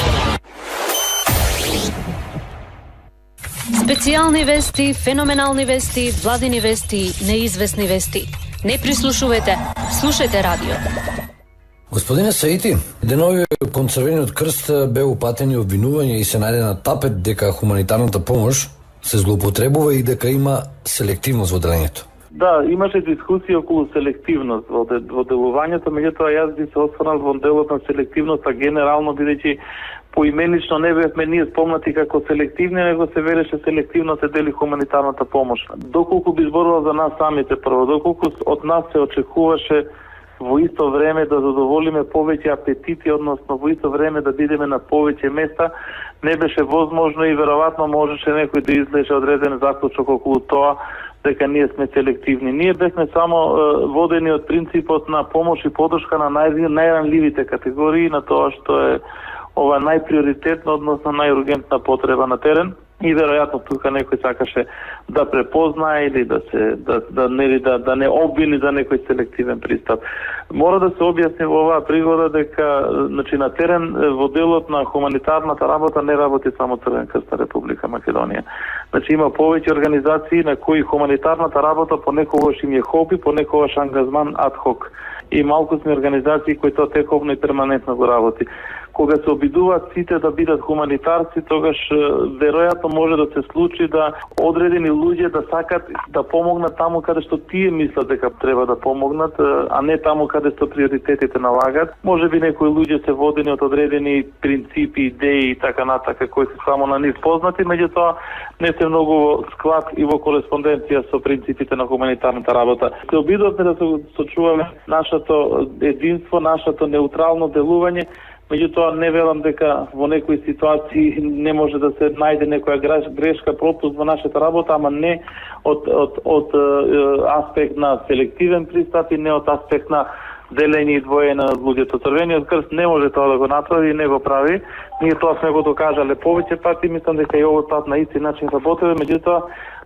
Специјални вести, феноменални вести, владини вести, неизвестни вести. Не прислушувате, слушајте радио. Господине Саити, денови кон Црвениот крст беа упатени обвинувања и се најде на тапет дека хуманитарната помош се злоупотребува и дека има селективност во делењето. Да, имаше дискусија околу селективност во, де, во делувањето, меѓутоа јас би се осврнал во делот на селективноста генерално, бидејќи поименично не бевме ние спомнати како селективни, него се вереше селективно се дели хуманитарната помош. Доколку би зборувал за нас самите прво, доколку од нас се очекуваше во исто време да задоволиме повеќе апетити, односно во исто време да бидеме на повеќе места, не беше возможно и веројатно можеше некој да излеже одреден заклучок околу тоа дека ние сме селективни. Ние бевме само е, водени од принципот на помош и подршка на нај, најранливите категории, на тоа што е ова најприоритетно, односно најургентна потреба на терен. И веројатно тука некој сакаше да препознае или да се да да не да, да не обвини за некој селективен пристап. Мора да се објасни во оваа пригода дека значи на терен во делот на хуманитарната работа не работи само Црвен крст на Република Македонија. Значи има повеќе организации на кои хуманитарната работа понекогаш им е хоби, понекогаш ангажман ад хок. И малку сме организации кои тоа тековно и перманентно го работи. Кога се обидуваат сите да бидат хуманитарци, тогаш веројатно може да се случи да одредени луѓе да сакат да помогнат таму каде што тие мислат дека треба да помогнат, а не таму каде што приоритетите налагат. Може би некои луѓе се водени од одредени принципи, идеи и така натака кои се само на нив познати, меѓутоа не се многу во склад и во кореспонденција со принципите на хуманитарната работа. Се обидуваме да се сочуваме нашето единство, нашето неутрално делување, Меѓутоа не велам дека во некои ситуации не може да се најде некоја грешка, пропуст во нашата работа, ама не од од од аспект на селективен пристап и не од аспект на делење и двоење на луѓето. Црвениот крст не може тоа да го направи и не го прави. Ние тоа сме го докажале повеќе пати, мислам дека и овој пат на исти начин работиме, меѓутоа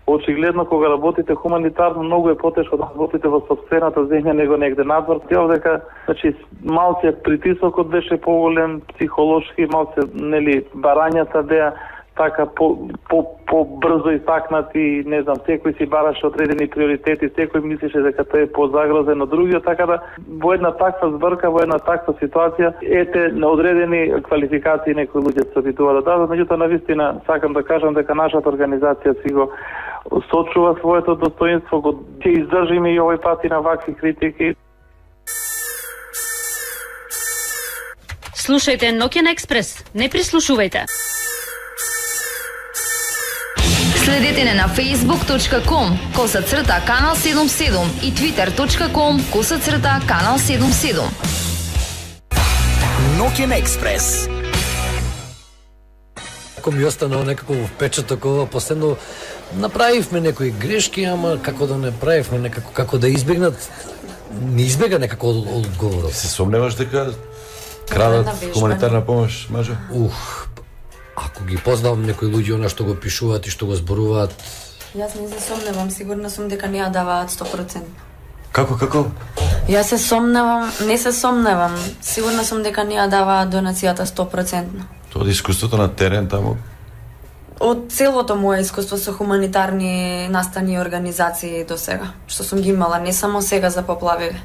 очигледно кога работите хуманитарно многу е потешко да работите во сопствената земја него негде надвор. Тие дека значи малце притисокот беше поголем, психолошки малце нели барањата беа така по по побрзо исакнати, не знам, секој си бараше одредени приоритети, секој мислеше дека тој е позагрозен од другиот, така да во една таква збрка, во една таква ситуација, ете на одредени квалификации некои луѓе се обидуваат да дадат, меѓутоа навистина сакам да кажам дека нашата организација си го сочува своето достоинство, го ќе издржиме и овој пат и на вакви критики. Слушајте Ноќен експрес, не прислушувајте. Следете не на facebook точка com коса црта канал седум седум и twitter точка com коса црта канал седум седум. Ноќен експрес. Ако ми останало некако впечаток ова, последно направивме некои грешки, ама како да не правивме некако, како да избегнат, не избега некако од одговорот. Се сомневаш дека крадат хуманитарна помош, Мажо? Ух, ако ги познавам некои луѓе она што го пишуваат и што го зборуваат. Јас не се сомневам, сигурна сум дека не ја даваат сто проценти. Како, како? Јас се сомневам, не се сомневам, сигурна сум дека не ја даваат донацијата сто проценти. Тоа од искуството на терен таму? Од целото мое искуство со хуманитарни настани и организации до сега, што сум ги имала, не само сега за поплавиве.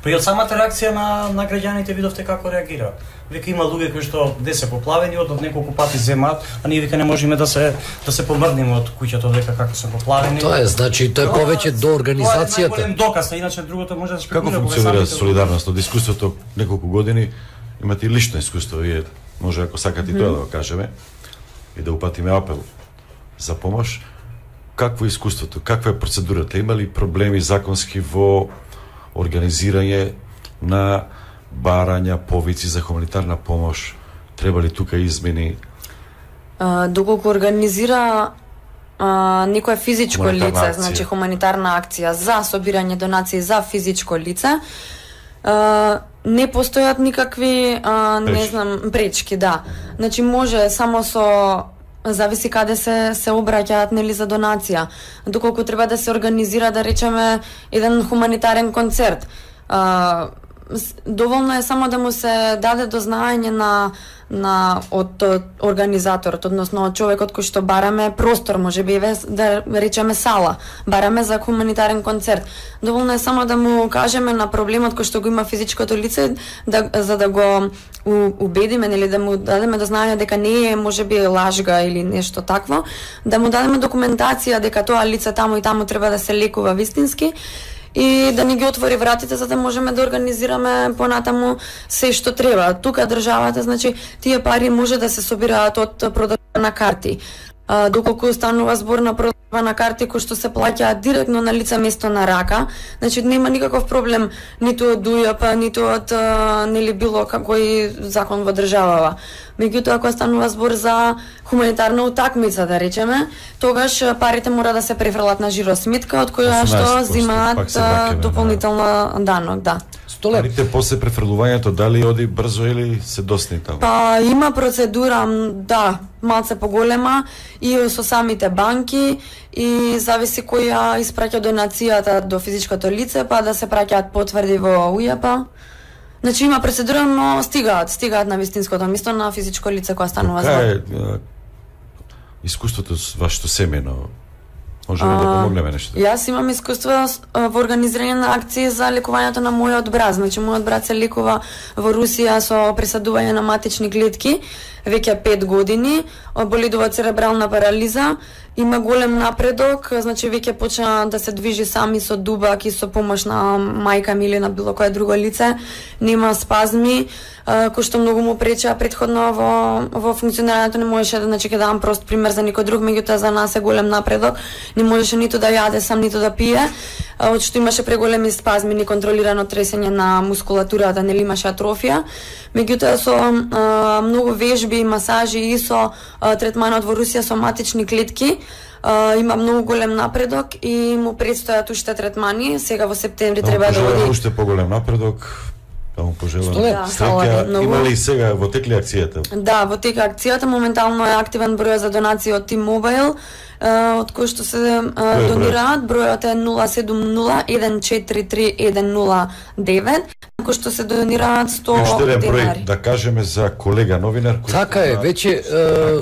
Па и од самата реакција на, на граѓаните видовте како реагира. Вика има луѓе кои што де се поплавени, од неколку пати земаат, а ние вика не можеме да се да се помрдниме од куќата дека како се поплавени. Тоа е, значи тоа е повеќе до организацијата. Тоа е најголем доказ, а иначе другото може да спекулира. Како функционира солидарност од искуството неколку години? Имате и лично искуство, вие може ако сакате и тоа да го кажеме и да упатиме апел за помош. Какво е искуството? Каква е процедурата? Има ли проблеми законски во организирање на барања, повици за хуманитарна помош? Треба ли тука измени? А, доколку организира а, некое физичко лице, значи хуманитарна акција за собирање донации за физичко лице, а, не постојат никакви, а, не знам, пречки, да. Значи може само со зависи каде се се обраќаат нели за донација. Доколку треба да се организира, да речеме, еден хуманитарен концерт, а, доволно е само да му се даде до знаење на на од организаторот, односно од човекот кој што бараме простор, можеби да речеме сала, бараме за хуманитарен концерт. Доволно е само да му кажеме на проблемот кој што го има физичкото лице, да, за да го убедиме, нели да му дадеме до знаење дека не е можеби лажга или нешто такво, да му дадеме документација дека тоа лице таму и таму треба да се лекува вистински, и да ни ги отвори вратите за да можеме да организираме понатаму се што треба. Тука државата, значи, тие пари може да се собираат од продажба на карти. А, доколку станува збор на продажба на карти кои што се плаќаат директно на лице место на рака, значи нема никаков проблем ниту од УЈП, ниту од а, нели било какој закон во државава. Меѓутоа, ако станува збор за хуманитарна утакмица, да речеме, тогаш парите мора да се префрлат на жиросметка, од која што земаат дополнително данок, да. Парите после префрлувањето дали оди брзо или се досни таму? Па има процедура, да, малце поголема и со самите банки и зависи која испраќа донацијата до физичкото лице, па да се праќаат потврди во УЈП. Значи има процедура, но стигаат, стигаат на вистинското место на физичко лице кога станува збор. Кај е искуството вашето семејно? Може ли да помогнеме нешто? Јас имам искуство во организирање на акции за лекувањето на мојот брат. Значи, мојот брат се лекува во Русија со пресадување на матични клетки. веќе пет години, боледува церебрална парализа, има голем напредок, значи веќе почна да се движи сами со дубак и со помош на мајка ми или на било кое друго лице, нема спазми, кој што многу му пречеа претходно во во функционирањето, не можеше да, значи ќе дам прост пример за некој друг, меѓутоа за нас е голем напредок, не можеше ниту да јаде сам, ниту да пие, од што имаше преголеми спазми, неконтролирано тресење на мускулатурата, нели имаше атрофија. Меѓутоа со а, многу вежби, масажи и со а, третманот во Русија со матични клетки, а, има многу голем напредок и му предстојат уште третмани. Сега во септември да, треба да оди. Уште поголем напредок. Да му пожелам. Да, среќа. Има ли сега во текли акцијата? Да, во тека акцијата моментално е активен број за донации од T-Mobile, од кој што се донираат. Бројот е нула седум нула еден четири три еден нула девет, кој што се донираат сто денари. Да кажеме за колега новинар кој така е, веќе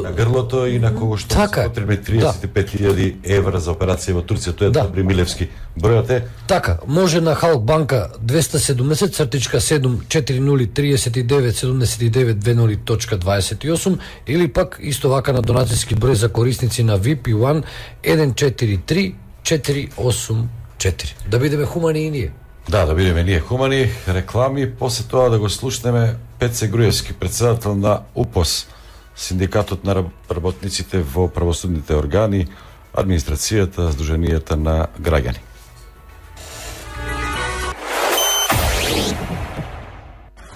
на грлото и на кого што така, потребни триесет и пет илјади евра за операција во Турција, тоа е да. Добри Милевски. Бројот е така, може на Халк банка двеста седумдесет цртичка седум четири нули триесет и девет седумдесет и девет две точка дваесет и осум или пак исто вака на донацијски број за корисници на ви пи еден еден четири три четири осум четири. Да бидеме хумани и ние. Да, да бидеме ние хумани, реклами, после тоа да го слушнеме Пеце Груевски, председател на УПОС, синдикатот на работниците во правосудните органи, администрацијата, Сдруженијата на граѓани.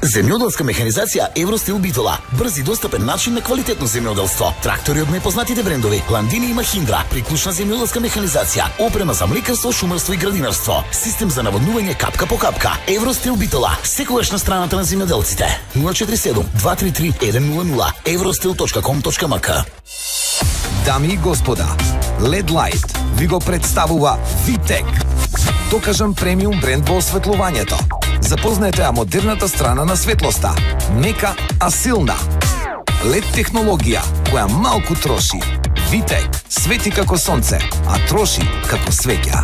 Земјоделска механизација Евростил Битола. Брз и достапен начин на квалитетно земјоделство. Трактори од најпознатите брендови Ландини и Махиндра, приклучна земјоделска механизација, опрема за млекарство, шумарство и градинарство, систем за наводнување капка по капка. Евростил Битола, секогаш на страната на земјоделците. нула четири седум два три три еден нула нула евростил точка ком точка ем ка. Дами и господа, Лед Лайт ви го представува Витек. Докажан премиум бренд во осветлувањето. Запознаете ја модерната страна на светлоста. Мека, а силна. Лед технологија, која малку троши. Витек, свети како сонце, а троши како свеќа.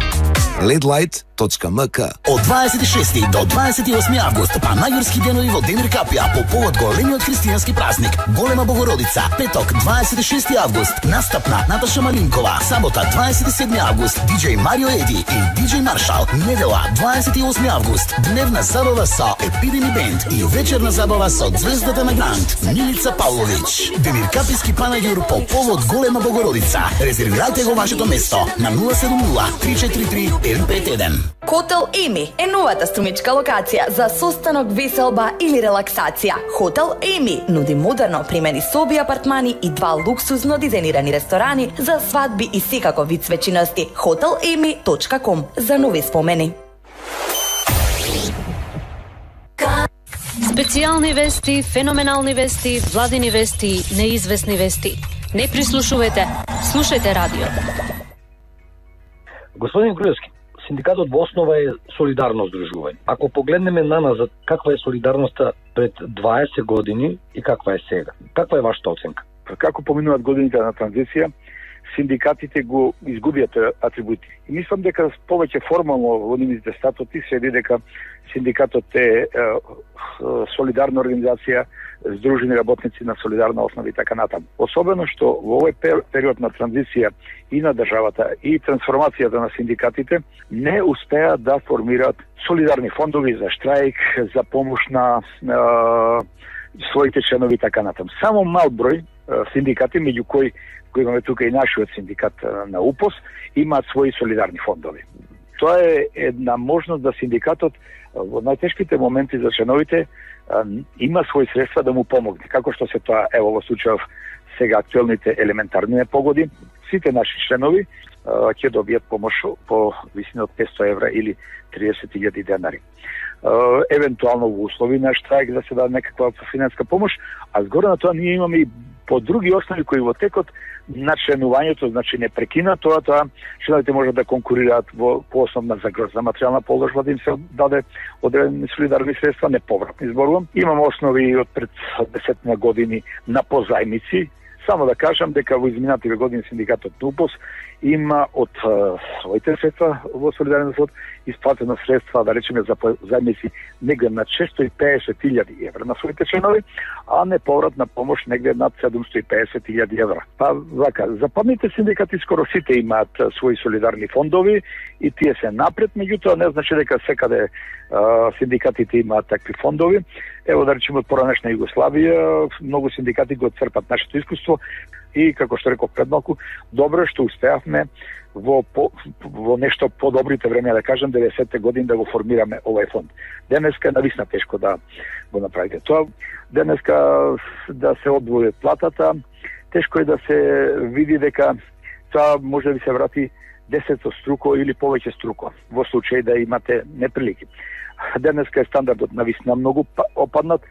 лед лайт точка ем ка. Од дваесет и шести до дваесет и осми август, панајурски денови во Демир Капија по повод големиот христијански празник Голема Богородица. Петок дваесет и шести август, настап на Наташа Малинкова. Сабота дваесет и седми август, диџеј Марио Еди и диџеј Маршал. Недела дваесет и осми август, дневна забава со Епидеми Бенд и вечерна забава со звездата на Грант Милица Павлович. Демир Капијски панајур по повод Голема Богородица. Резервирајте го вашето место на нула седум нула три четири три еден пет еден. Хотел Еми е новата струмичка локација за состанок, веселба или релаксација. Хотел Еми нуди модерно примени соби, апартмани и два луксузно дизајнирани ресторани за свадби и секако вид свечиности. хотел еми точка ком за нови спомени. Специјални вести, феноменални вести, владини вести, неизвестни вести. Не прислушувате, слушајте радио. Господин Груевски, синдикатот во основа е солидарно здружување. Ако погледнеме наназад, каква е солидарноста пред дваесет години и каква е сега? Каква е вашата оценка? Како поминуваат годините на транзиција, синдикатите го изгубиат атрибути. И мислам дека повеќе формално во нивните статути се види дека синдикатот е, е, е солидарна организација, здружени работници на солидарна основа и така натаму. Особено што во овој период на транзиција и на државата и трансформацијата на синдикатите не успеа да формираат солидарни фондови за штрајк, за помош на е, своите членови и така натаму. Само мал број е, синдикати, меѓу кои кои имаме тука и нашиот синдикат на УПОС, имаат своји солидарни фондови. Тоа е една можност да синдикатот во најтешките моменти за членовите има своји средства да му помогне. Како што се тоа, ево во случајов сега актуелните елементарни непогоди, сите наши членови ќе добијат помош по висина од петстотини евра или триесет илјади денари. Евентуално во услови на штрајк да се даде некаква финанска помош, а згоре на тоа ние имаме и по други основи кои во текот на членувањето, значи не прекина тоа, тоа членовите можат да конкурираат во по основна за грозна материјална положба да им се даде одредени солидарни средства, неповратни зборувам. Имаме основи од пред десет години на позајмици. Само да кажам дека во изминативе години синдикатот на УПОС има од а, своите средства во Солидарен фонд исплатено средства, да речеме, за зајмици негде на шестоста и педесет илјади евра на своите членови, а неповратна помош негде над седумстотини и педесет илјади евра. Па вака, западните синдикати скоро сите имаат своји солидарни фондови и тие се напред, меѓутоа не значи дека секаде а, синдикатите имаат такви фондови. Ево да речеме од поранешна Југославија, многу синдикати го црпат нашето искуство и како што реков пред малку, добро што успеавме во по, во нешто подобрите време, да кажем, деветдесетте години да го формираме овој фонд. Денеска е нависна тешко да го направите тоа. Денеска да се одвои платата, тешко е да се види дека тоа може да ви се врати десет струко или повеќе струко, во случај да имате неприлики. Денеска е стандардот нависна многу опаднат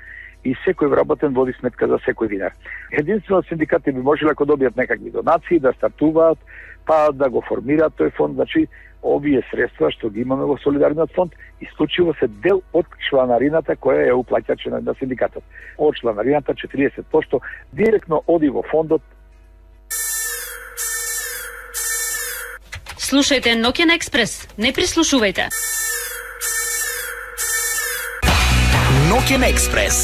и секој вработен води сметка за секој динар. Единствено синдикати би можеле ако добијат некакви донации да стартуваат, па да го формираат тој фонд, значи овие средства што ги имаме во Солидарниот фонд исклучиво се дел од чланарината која ја уплаќа членот на синдикатот. Од чланарината четириесет проценти директно оди во фондот. Слушајте Ноќен експрес, не прислушувајте. Ноќен експрес.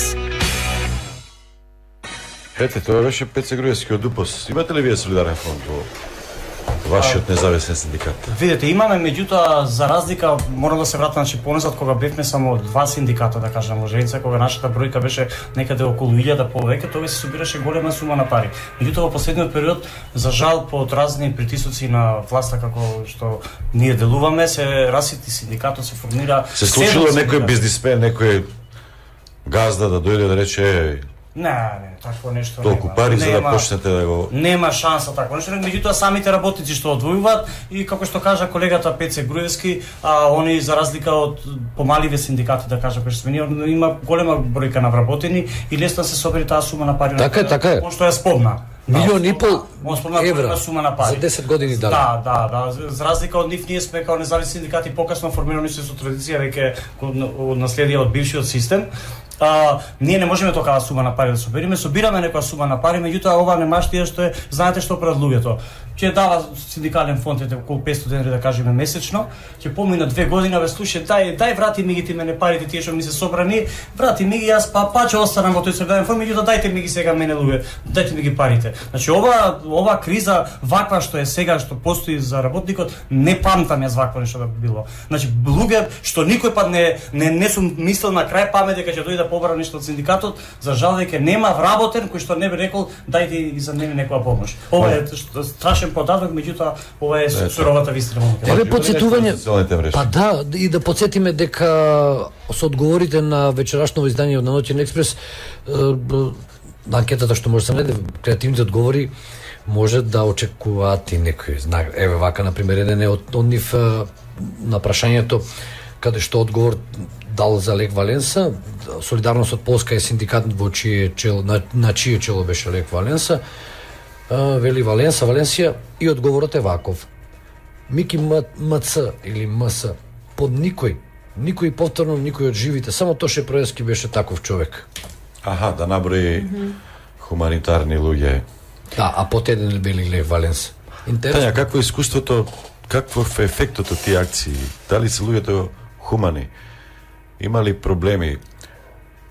Ете, тоа беше Пеце Груевски од УПОС. Имате ли вие солидарен фонд во вашиот независен синдикат? Видете, имаме, меѓутоа за разлика морам да се вратам, значи понесат кога бевме само два синдиката, да кажам, во Железница, кога нашата бројка беше некаде околу илјада повеќе, тоа се собираше голема сума на пари. Меѓутоа во последниот период, за жал, под разни притисоци на власта како што ние делуваме, се расити синдикатот, се формира. Се случило некој бизнисмен, некој газда да дојде да рече Не, не, такво нешто толку нема. пари за да Нема- почнете да го... Нема шанса такво нешто, меѓутоа самите работници што одвојуваат и како што кажа колегата Пеце Груевски, а они за разлика од помаливе синдикати, да кажа, кои што сме ние, има голема бројка на вработени и лесно се собери таа сума на пари. Така е, така е. Он што ја спомна. Милион и пол Он спомна евра голема сума на пари. за десет години дали. Да, да, да. За- За разлика од нив, ние сме као независни синдикати покасно формирани со традиција веќе од наследие од бившиот систем. А, ние не можеме токава сума на пари да собериме, собираме некоја сума на пари, меѓутоа ова немаштија што е, знаете што прават луѓето. Ќе дава синдикален фонд ете околу петстотини денари да кажеме месечно, ќе помина две години, бе слушај, дај дај врати ми ги ти мене парите тие што ми се собрани, врати ми ги јас па па ќе останам во тој синдикален фонд, меѓутоа дајте ми ги сега мене луѓе, дајте ми ги парите. Значи ова ова криза ваква што е сега што постои за работникот, не памтам јас вакво нешто да би било. Значи луѓе што никој пат не не не сум мислел на крај памет дека ќе дојде да побара нешто од синдикатот, за жал дека нема вработен кој што не би рекол дајте и за мене некоја помош. Ова е што- страшен податок, меѓутоа ова е суровата вистина. Еве потсетување. Па да, и да потсетиме дека со одговорите на вечерашното издание од Ноќен експрес, е, б- на анкетата што може да се најде, креативните одговори може да очекуваат и некој знак. Еве вака на пример еден е од, од нив е, на прашањето каде што одговор дал за Лек Валенса, Солидарност од Полска е синдикат во чие чело, на, на чие чело беше Лек Валенса, е, вели Валенса, Валенсија, и одговорот е ваков. Мики М- МЦ или МС под никој, никој повторно никој од живите, само Тоше Проевски беше таков човек. Аха, да наброи хуманитарни луѓе. Да, а под еден били Лев Валенса. Интересно. Тања, какво е искуството, каков е ефектот од тие акции? Дали се луѓето хумани? Има ли проблеми?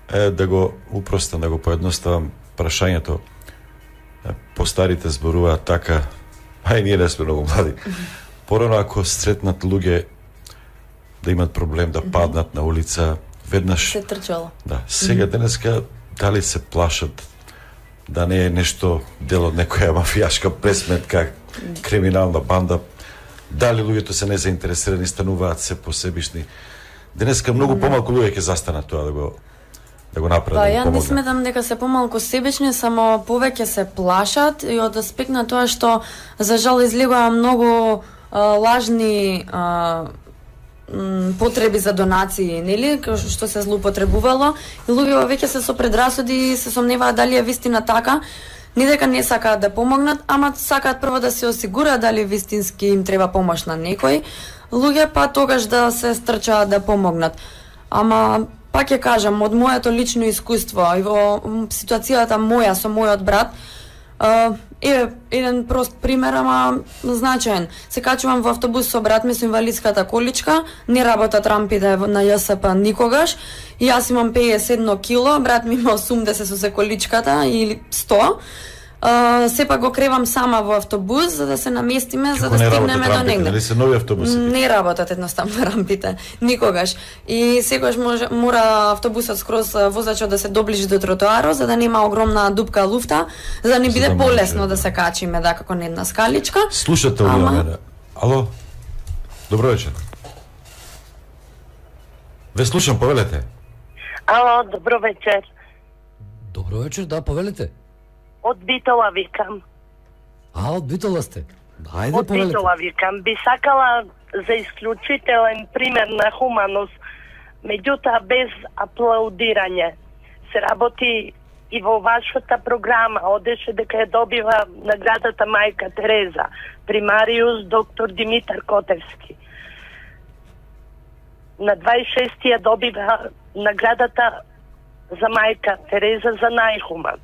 Е, да го упростам, да го поедноставам прашањето. Е, Постарите зборуваат така, а и ние не сме многу млади. Порано ако сретнат луѓе да имат проблем да паднат на улица, веднаш Се трчало. да, сега денеска дали се плашат да не е нешто дел од некоја мафијашка пресметка, криминална банда, дали луѓето се незаинтересирани, стануваат се посебишни. Денеска многу помалку луѓе ќе застанат тоа да го да го направат, Па да го ја не помогнат. сметам дека се помалку себични, само повеќе се плашат и од аспект на тоа што за жал излегува многу а, лажни а, м, потреби за донации, нели, кој што се злоупотребувало и луѓето веќе се со предрасуди и се сомневаат дали е вистина така. Не дека не сакаат да помогнат, ама сакаат прво да се осигураат дали вистински им треба помош на некој луѓе, па тогаш да се стрчаат да помогнат. Ама пак ќе кажам, од моето лично искуство и во м, ситуацијата моја со мојот брат, Uh, е, еден прост пример, ама значаен. Се качувам во автобус со брат ми со инвалидската количка, не работат рампите на Ја С П никогаш, и јас имам педесет и едно кило, брат ми има осумдесет со се количката или сто. Uh, сепак го кревам сама во автобус за да се наместиме, за да стигнеме до негде. Нели се нови автобуси? Не работат едноставно рампите, никогаш. И секогаш може, мора автобусот скроз возачот да се доближи до тротоарот, за да нема огромна дупка луфта, за да не биде да полесно може, да се качиме да како на една скаличка. Слушате ли Ама... мене? Ало? Добро вечер. Ве слушам, повелете. Ало, добро вечер. Добро вечер, да, повелете. Од Битола викам. А, од Битола сте? Ајде, од повелете. Битола викам. Би сакала за исклучителен пример на хуманост, меѓутоа без аплаудирање. Се работи и во вашата програма, одеше дека ја добива наградата Мајка Тереза, примариус доктор Димитар Котевски. На дваесет и шести ја добива наградата за Мајка Тереза за најхуман.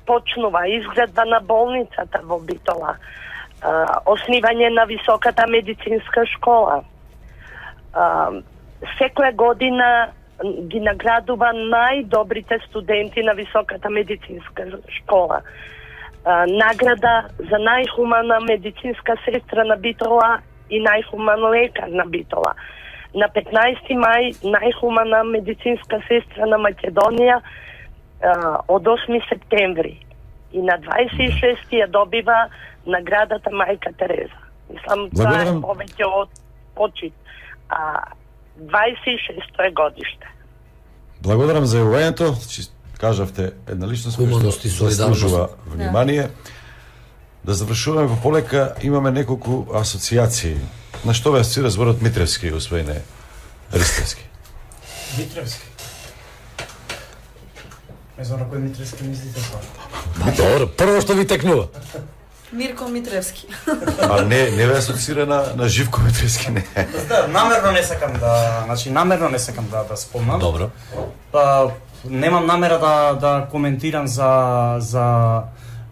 Почнува изградба на болницата во Битола, оснивање на високата медицинска школа. Секоја година ги наградува најдобрите студенти на високата медицинска школа. Награда за најхумана медицинска сестра на Битола и најхуман лекар на Битола. На петнаесети мај најхумана медицинска сестра на Македонија од осми септември, и на дваесет и шести ја добива наградата Мајка Тереза. Мислам, тоа е повеќе од почит. А дваесет и шесто е годиште. Благодарам за јавувањето. Кажавте една личност која што заслужува внимание. Да завршуваме во полека, имаме неколку асоциации. На што ве асоцира зборот Митревски, господине Ристевски? Митревски. Не знам на кој Митревски мислите тоа. Па добро, прво што ви текнува. Мирко Митревски. А не, не ве асоцира на, на Живко Митревски, не. Да, намерно не сакам да, значи намерно не сакам да да спомнам. Добро. Па немам намера да да коментирам за за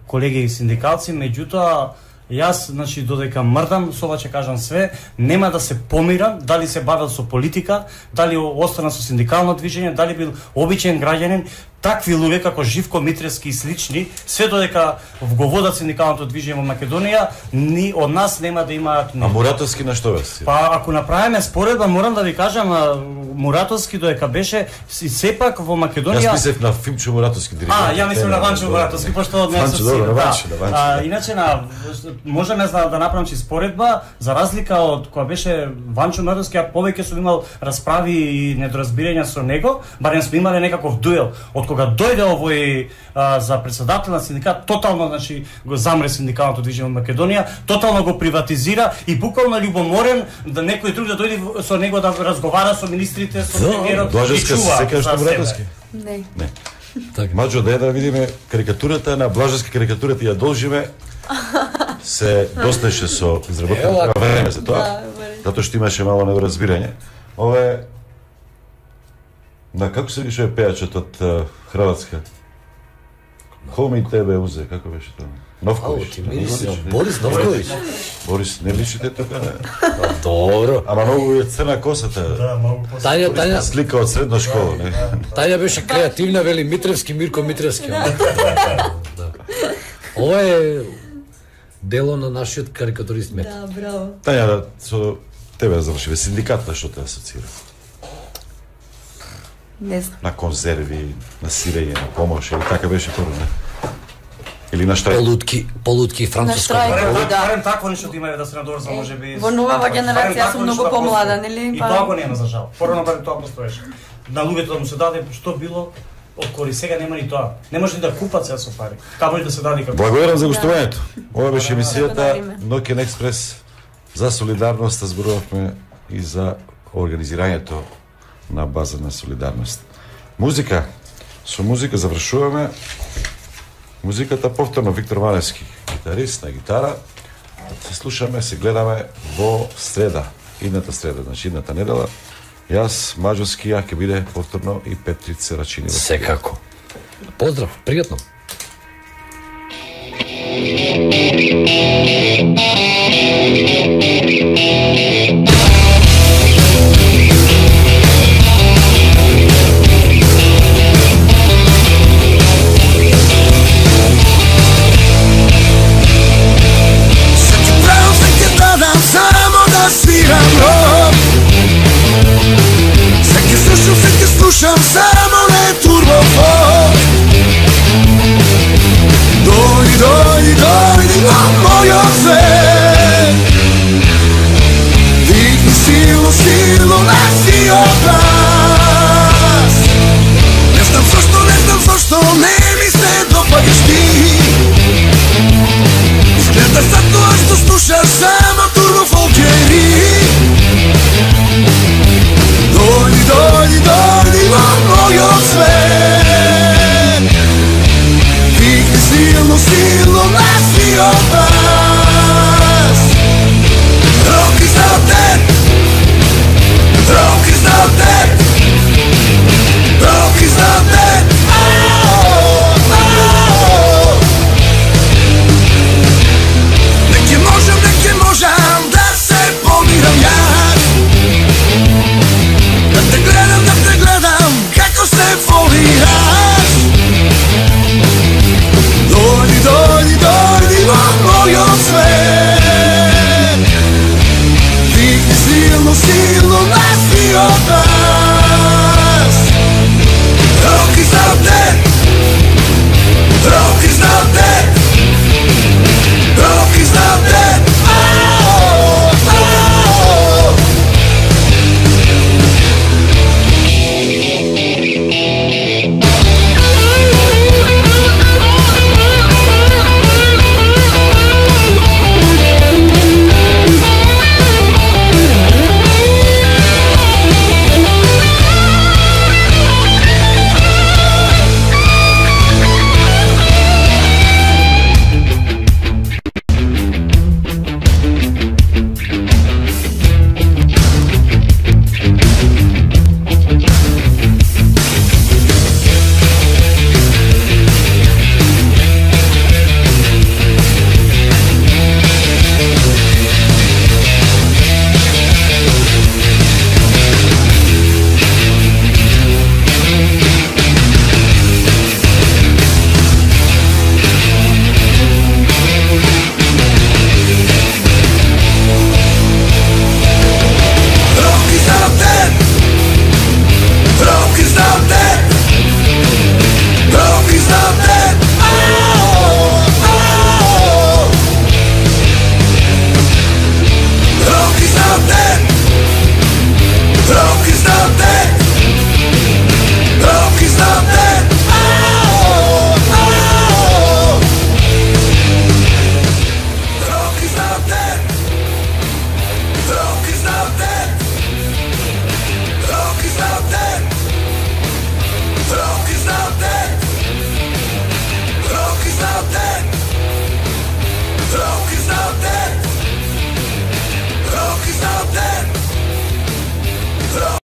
колеги и синдикалци, меѓутоа јас, значи, додека мрдам, со ова ќе кажам све, нема да се помирам, дали се бавел со политика, дали остана со синдикално движење, дали бил обичен граѓанин, такви луѓе како Живко Митревски и слични, све додека го водат синдикалното движење во Македонија, ни од нас нема да имаат ни. А Муратовски на што ве? Па ако направиме споредба, морам да ви кажам, Муратовски додека беше и сепак во Македонија. Јас мислев на Фимчо Муратовски диригент. А, ја мислам на Ванчо Муратовски, пошто од нас добро, Ванчо, да. А, иначе на можеме да, да направам чи споредба, за разлика од која беше Ванчо Муратовски, ја повеќе сум имал расправи и недоразбирања со него, барем сме имале некаков дуел. Од кога дојде овој а, за председател на синдикат, тотално, значи, го замре синдикалното движење во Македонија, тотално го приватизира и буквално љубоморен да некој друг да дојде со него да разговара со министрите, со премиерот и чува. Секој што Муратовски? Не. Не. Маđо, да да видиме карикатурата на Блажевски, карикатурата ја должиме. Се досташе со изработено време за тоа, затоа што имаше мало недоразбирање. Ова е на како се више пејачот од Хрватска? Хоми тебе узе, како беше тоа? Новкович. Борис Новкович. Борис, не личите така, не? Добро. Ама многу е црна косата. Да, многу косата. Тања, Тања. Слика од средна школа, не? Тања беше креативна, вели Митревски, Мирко Митревски. Ова е дело на нашиот карикатурист Мет. Да, браво. Тања, со тебе завршиве синдикат, на што те асоцира? Не знам. На конзерви, на сирење, на помош, или така беше прво, не? Или на штрајк? Полутки, полутки и француска. На штрајк, да. Барем такво нешто да има да се надорза, можеби. Во новава генерација сум многу помлада, нели? И тоа го нема за жал. Порано барем тоа постоеше. На луѓето да му се даде што било од кори, сега нема ни тоа. Не може ни да купат се со пари. Камо да се даде како. Благодарам за гостувањето. Ова беше емисијата Ноќен експрес за солидарност, зборувавме и за организирањето на база на солидарност. Музика, со музика завршуваме. Музиката повторно Виктор Ваневски, гитарист на гитара. Се слушаме, се гледаме во среда, идната среда, значи идната недела. Јас, Маđовски, ја ќе биде повторно и Петрица Рачини. Секако. Поздрав, пријатно. Слушам само не турбофон. Дојди, дојди, дојди на мојот свет. Дигни силно, силно на сиот глас. Не знам зашто, не знам зашто не ми се допаѓаш ти. Изгледа за тоа што слушаш само турбофолк.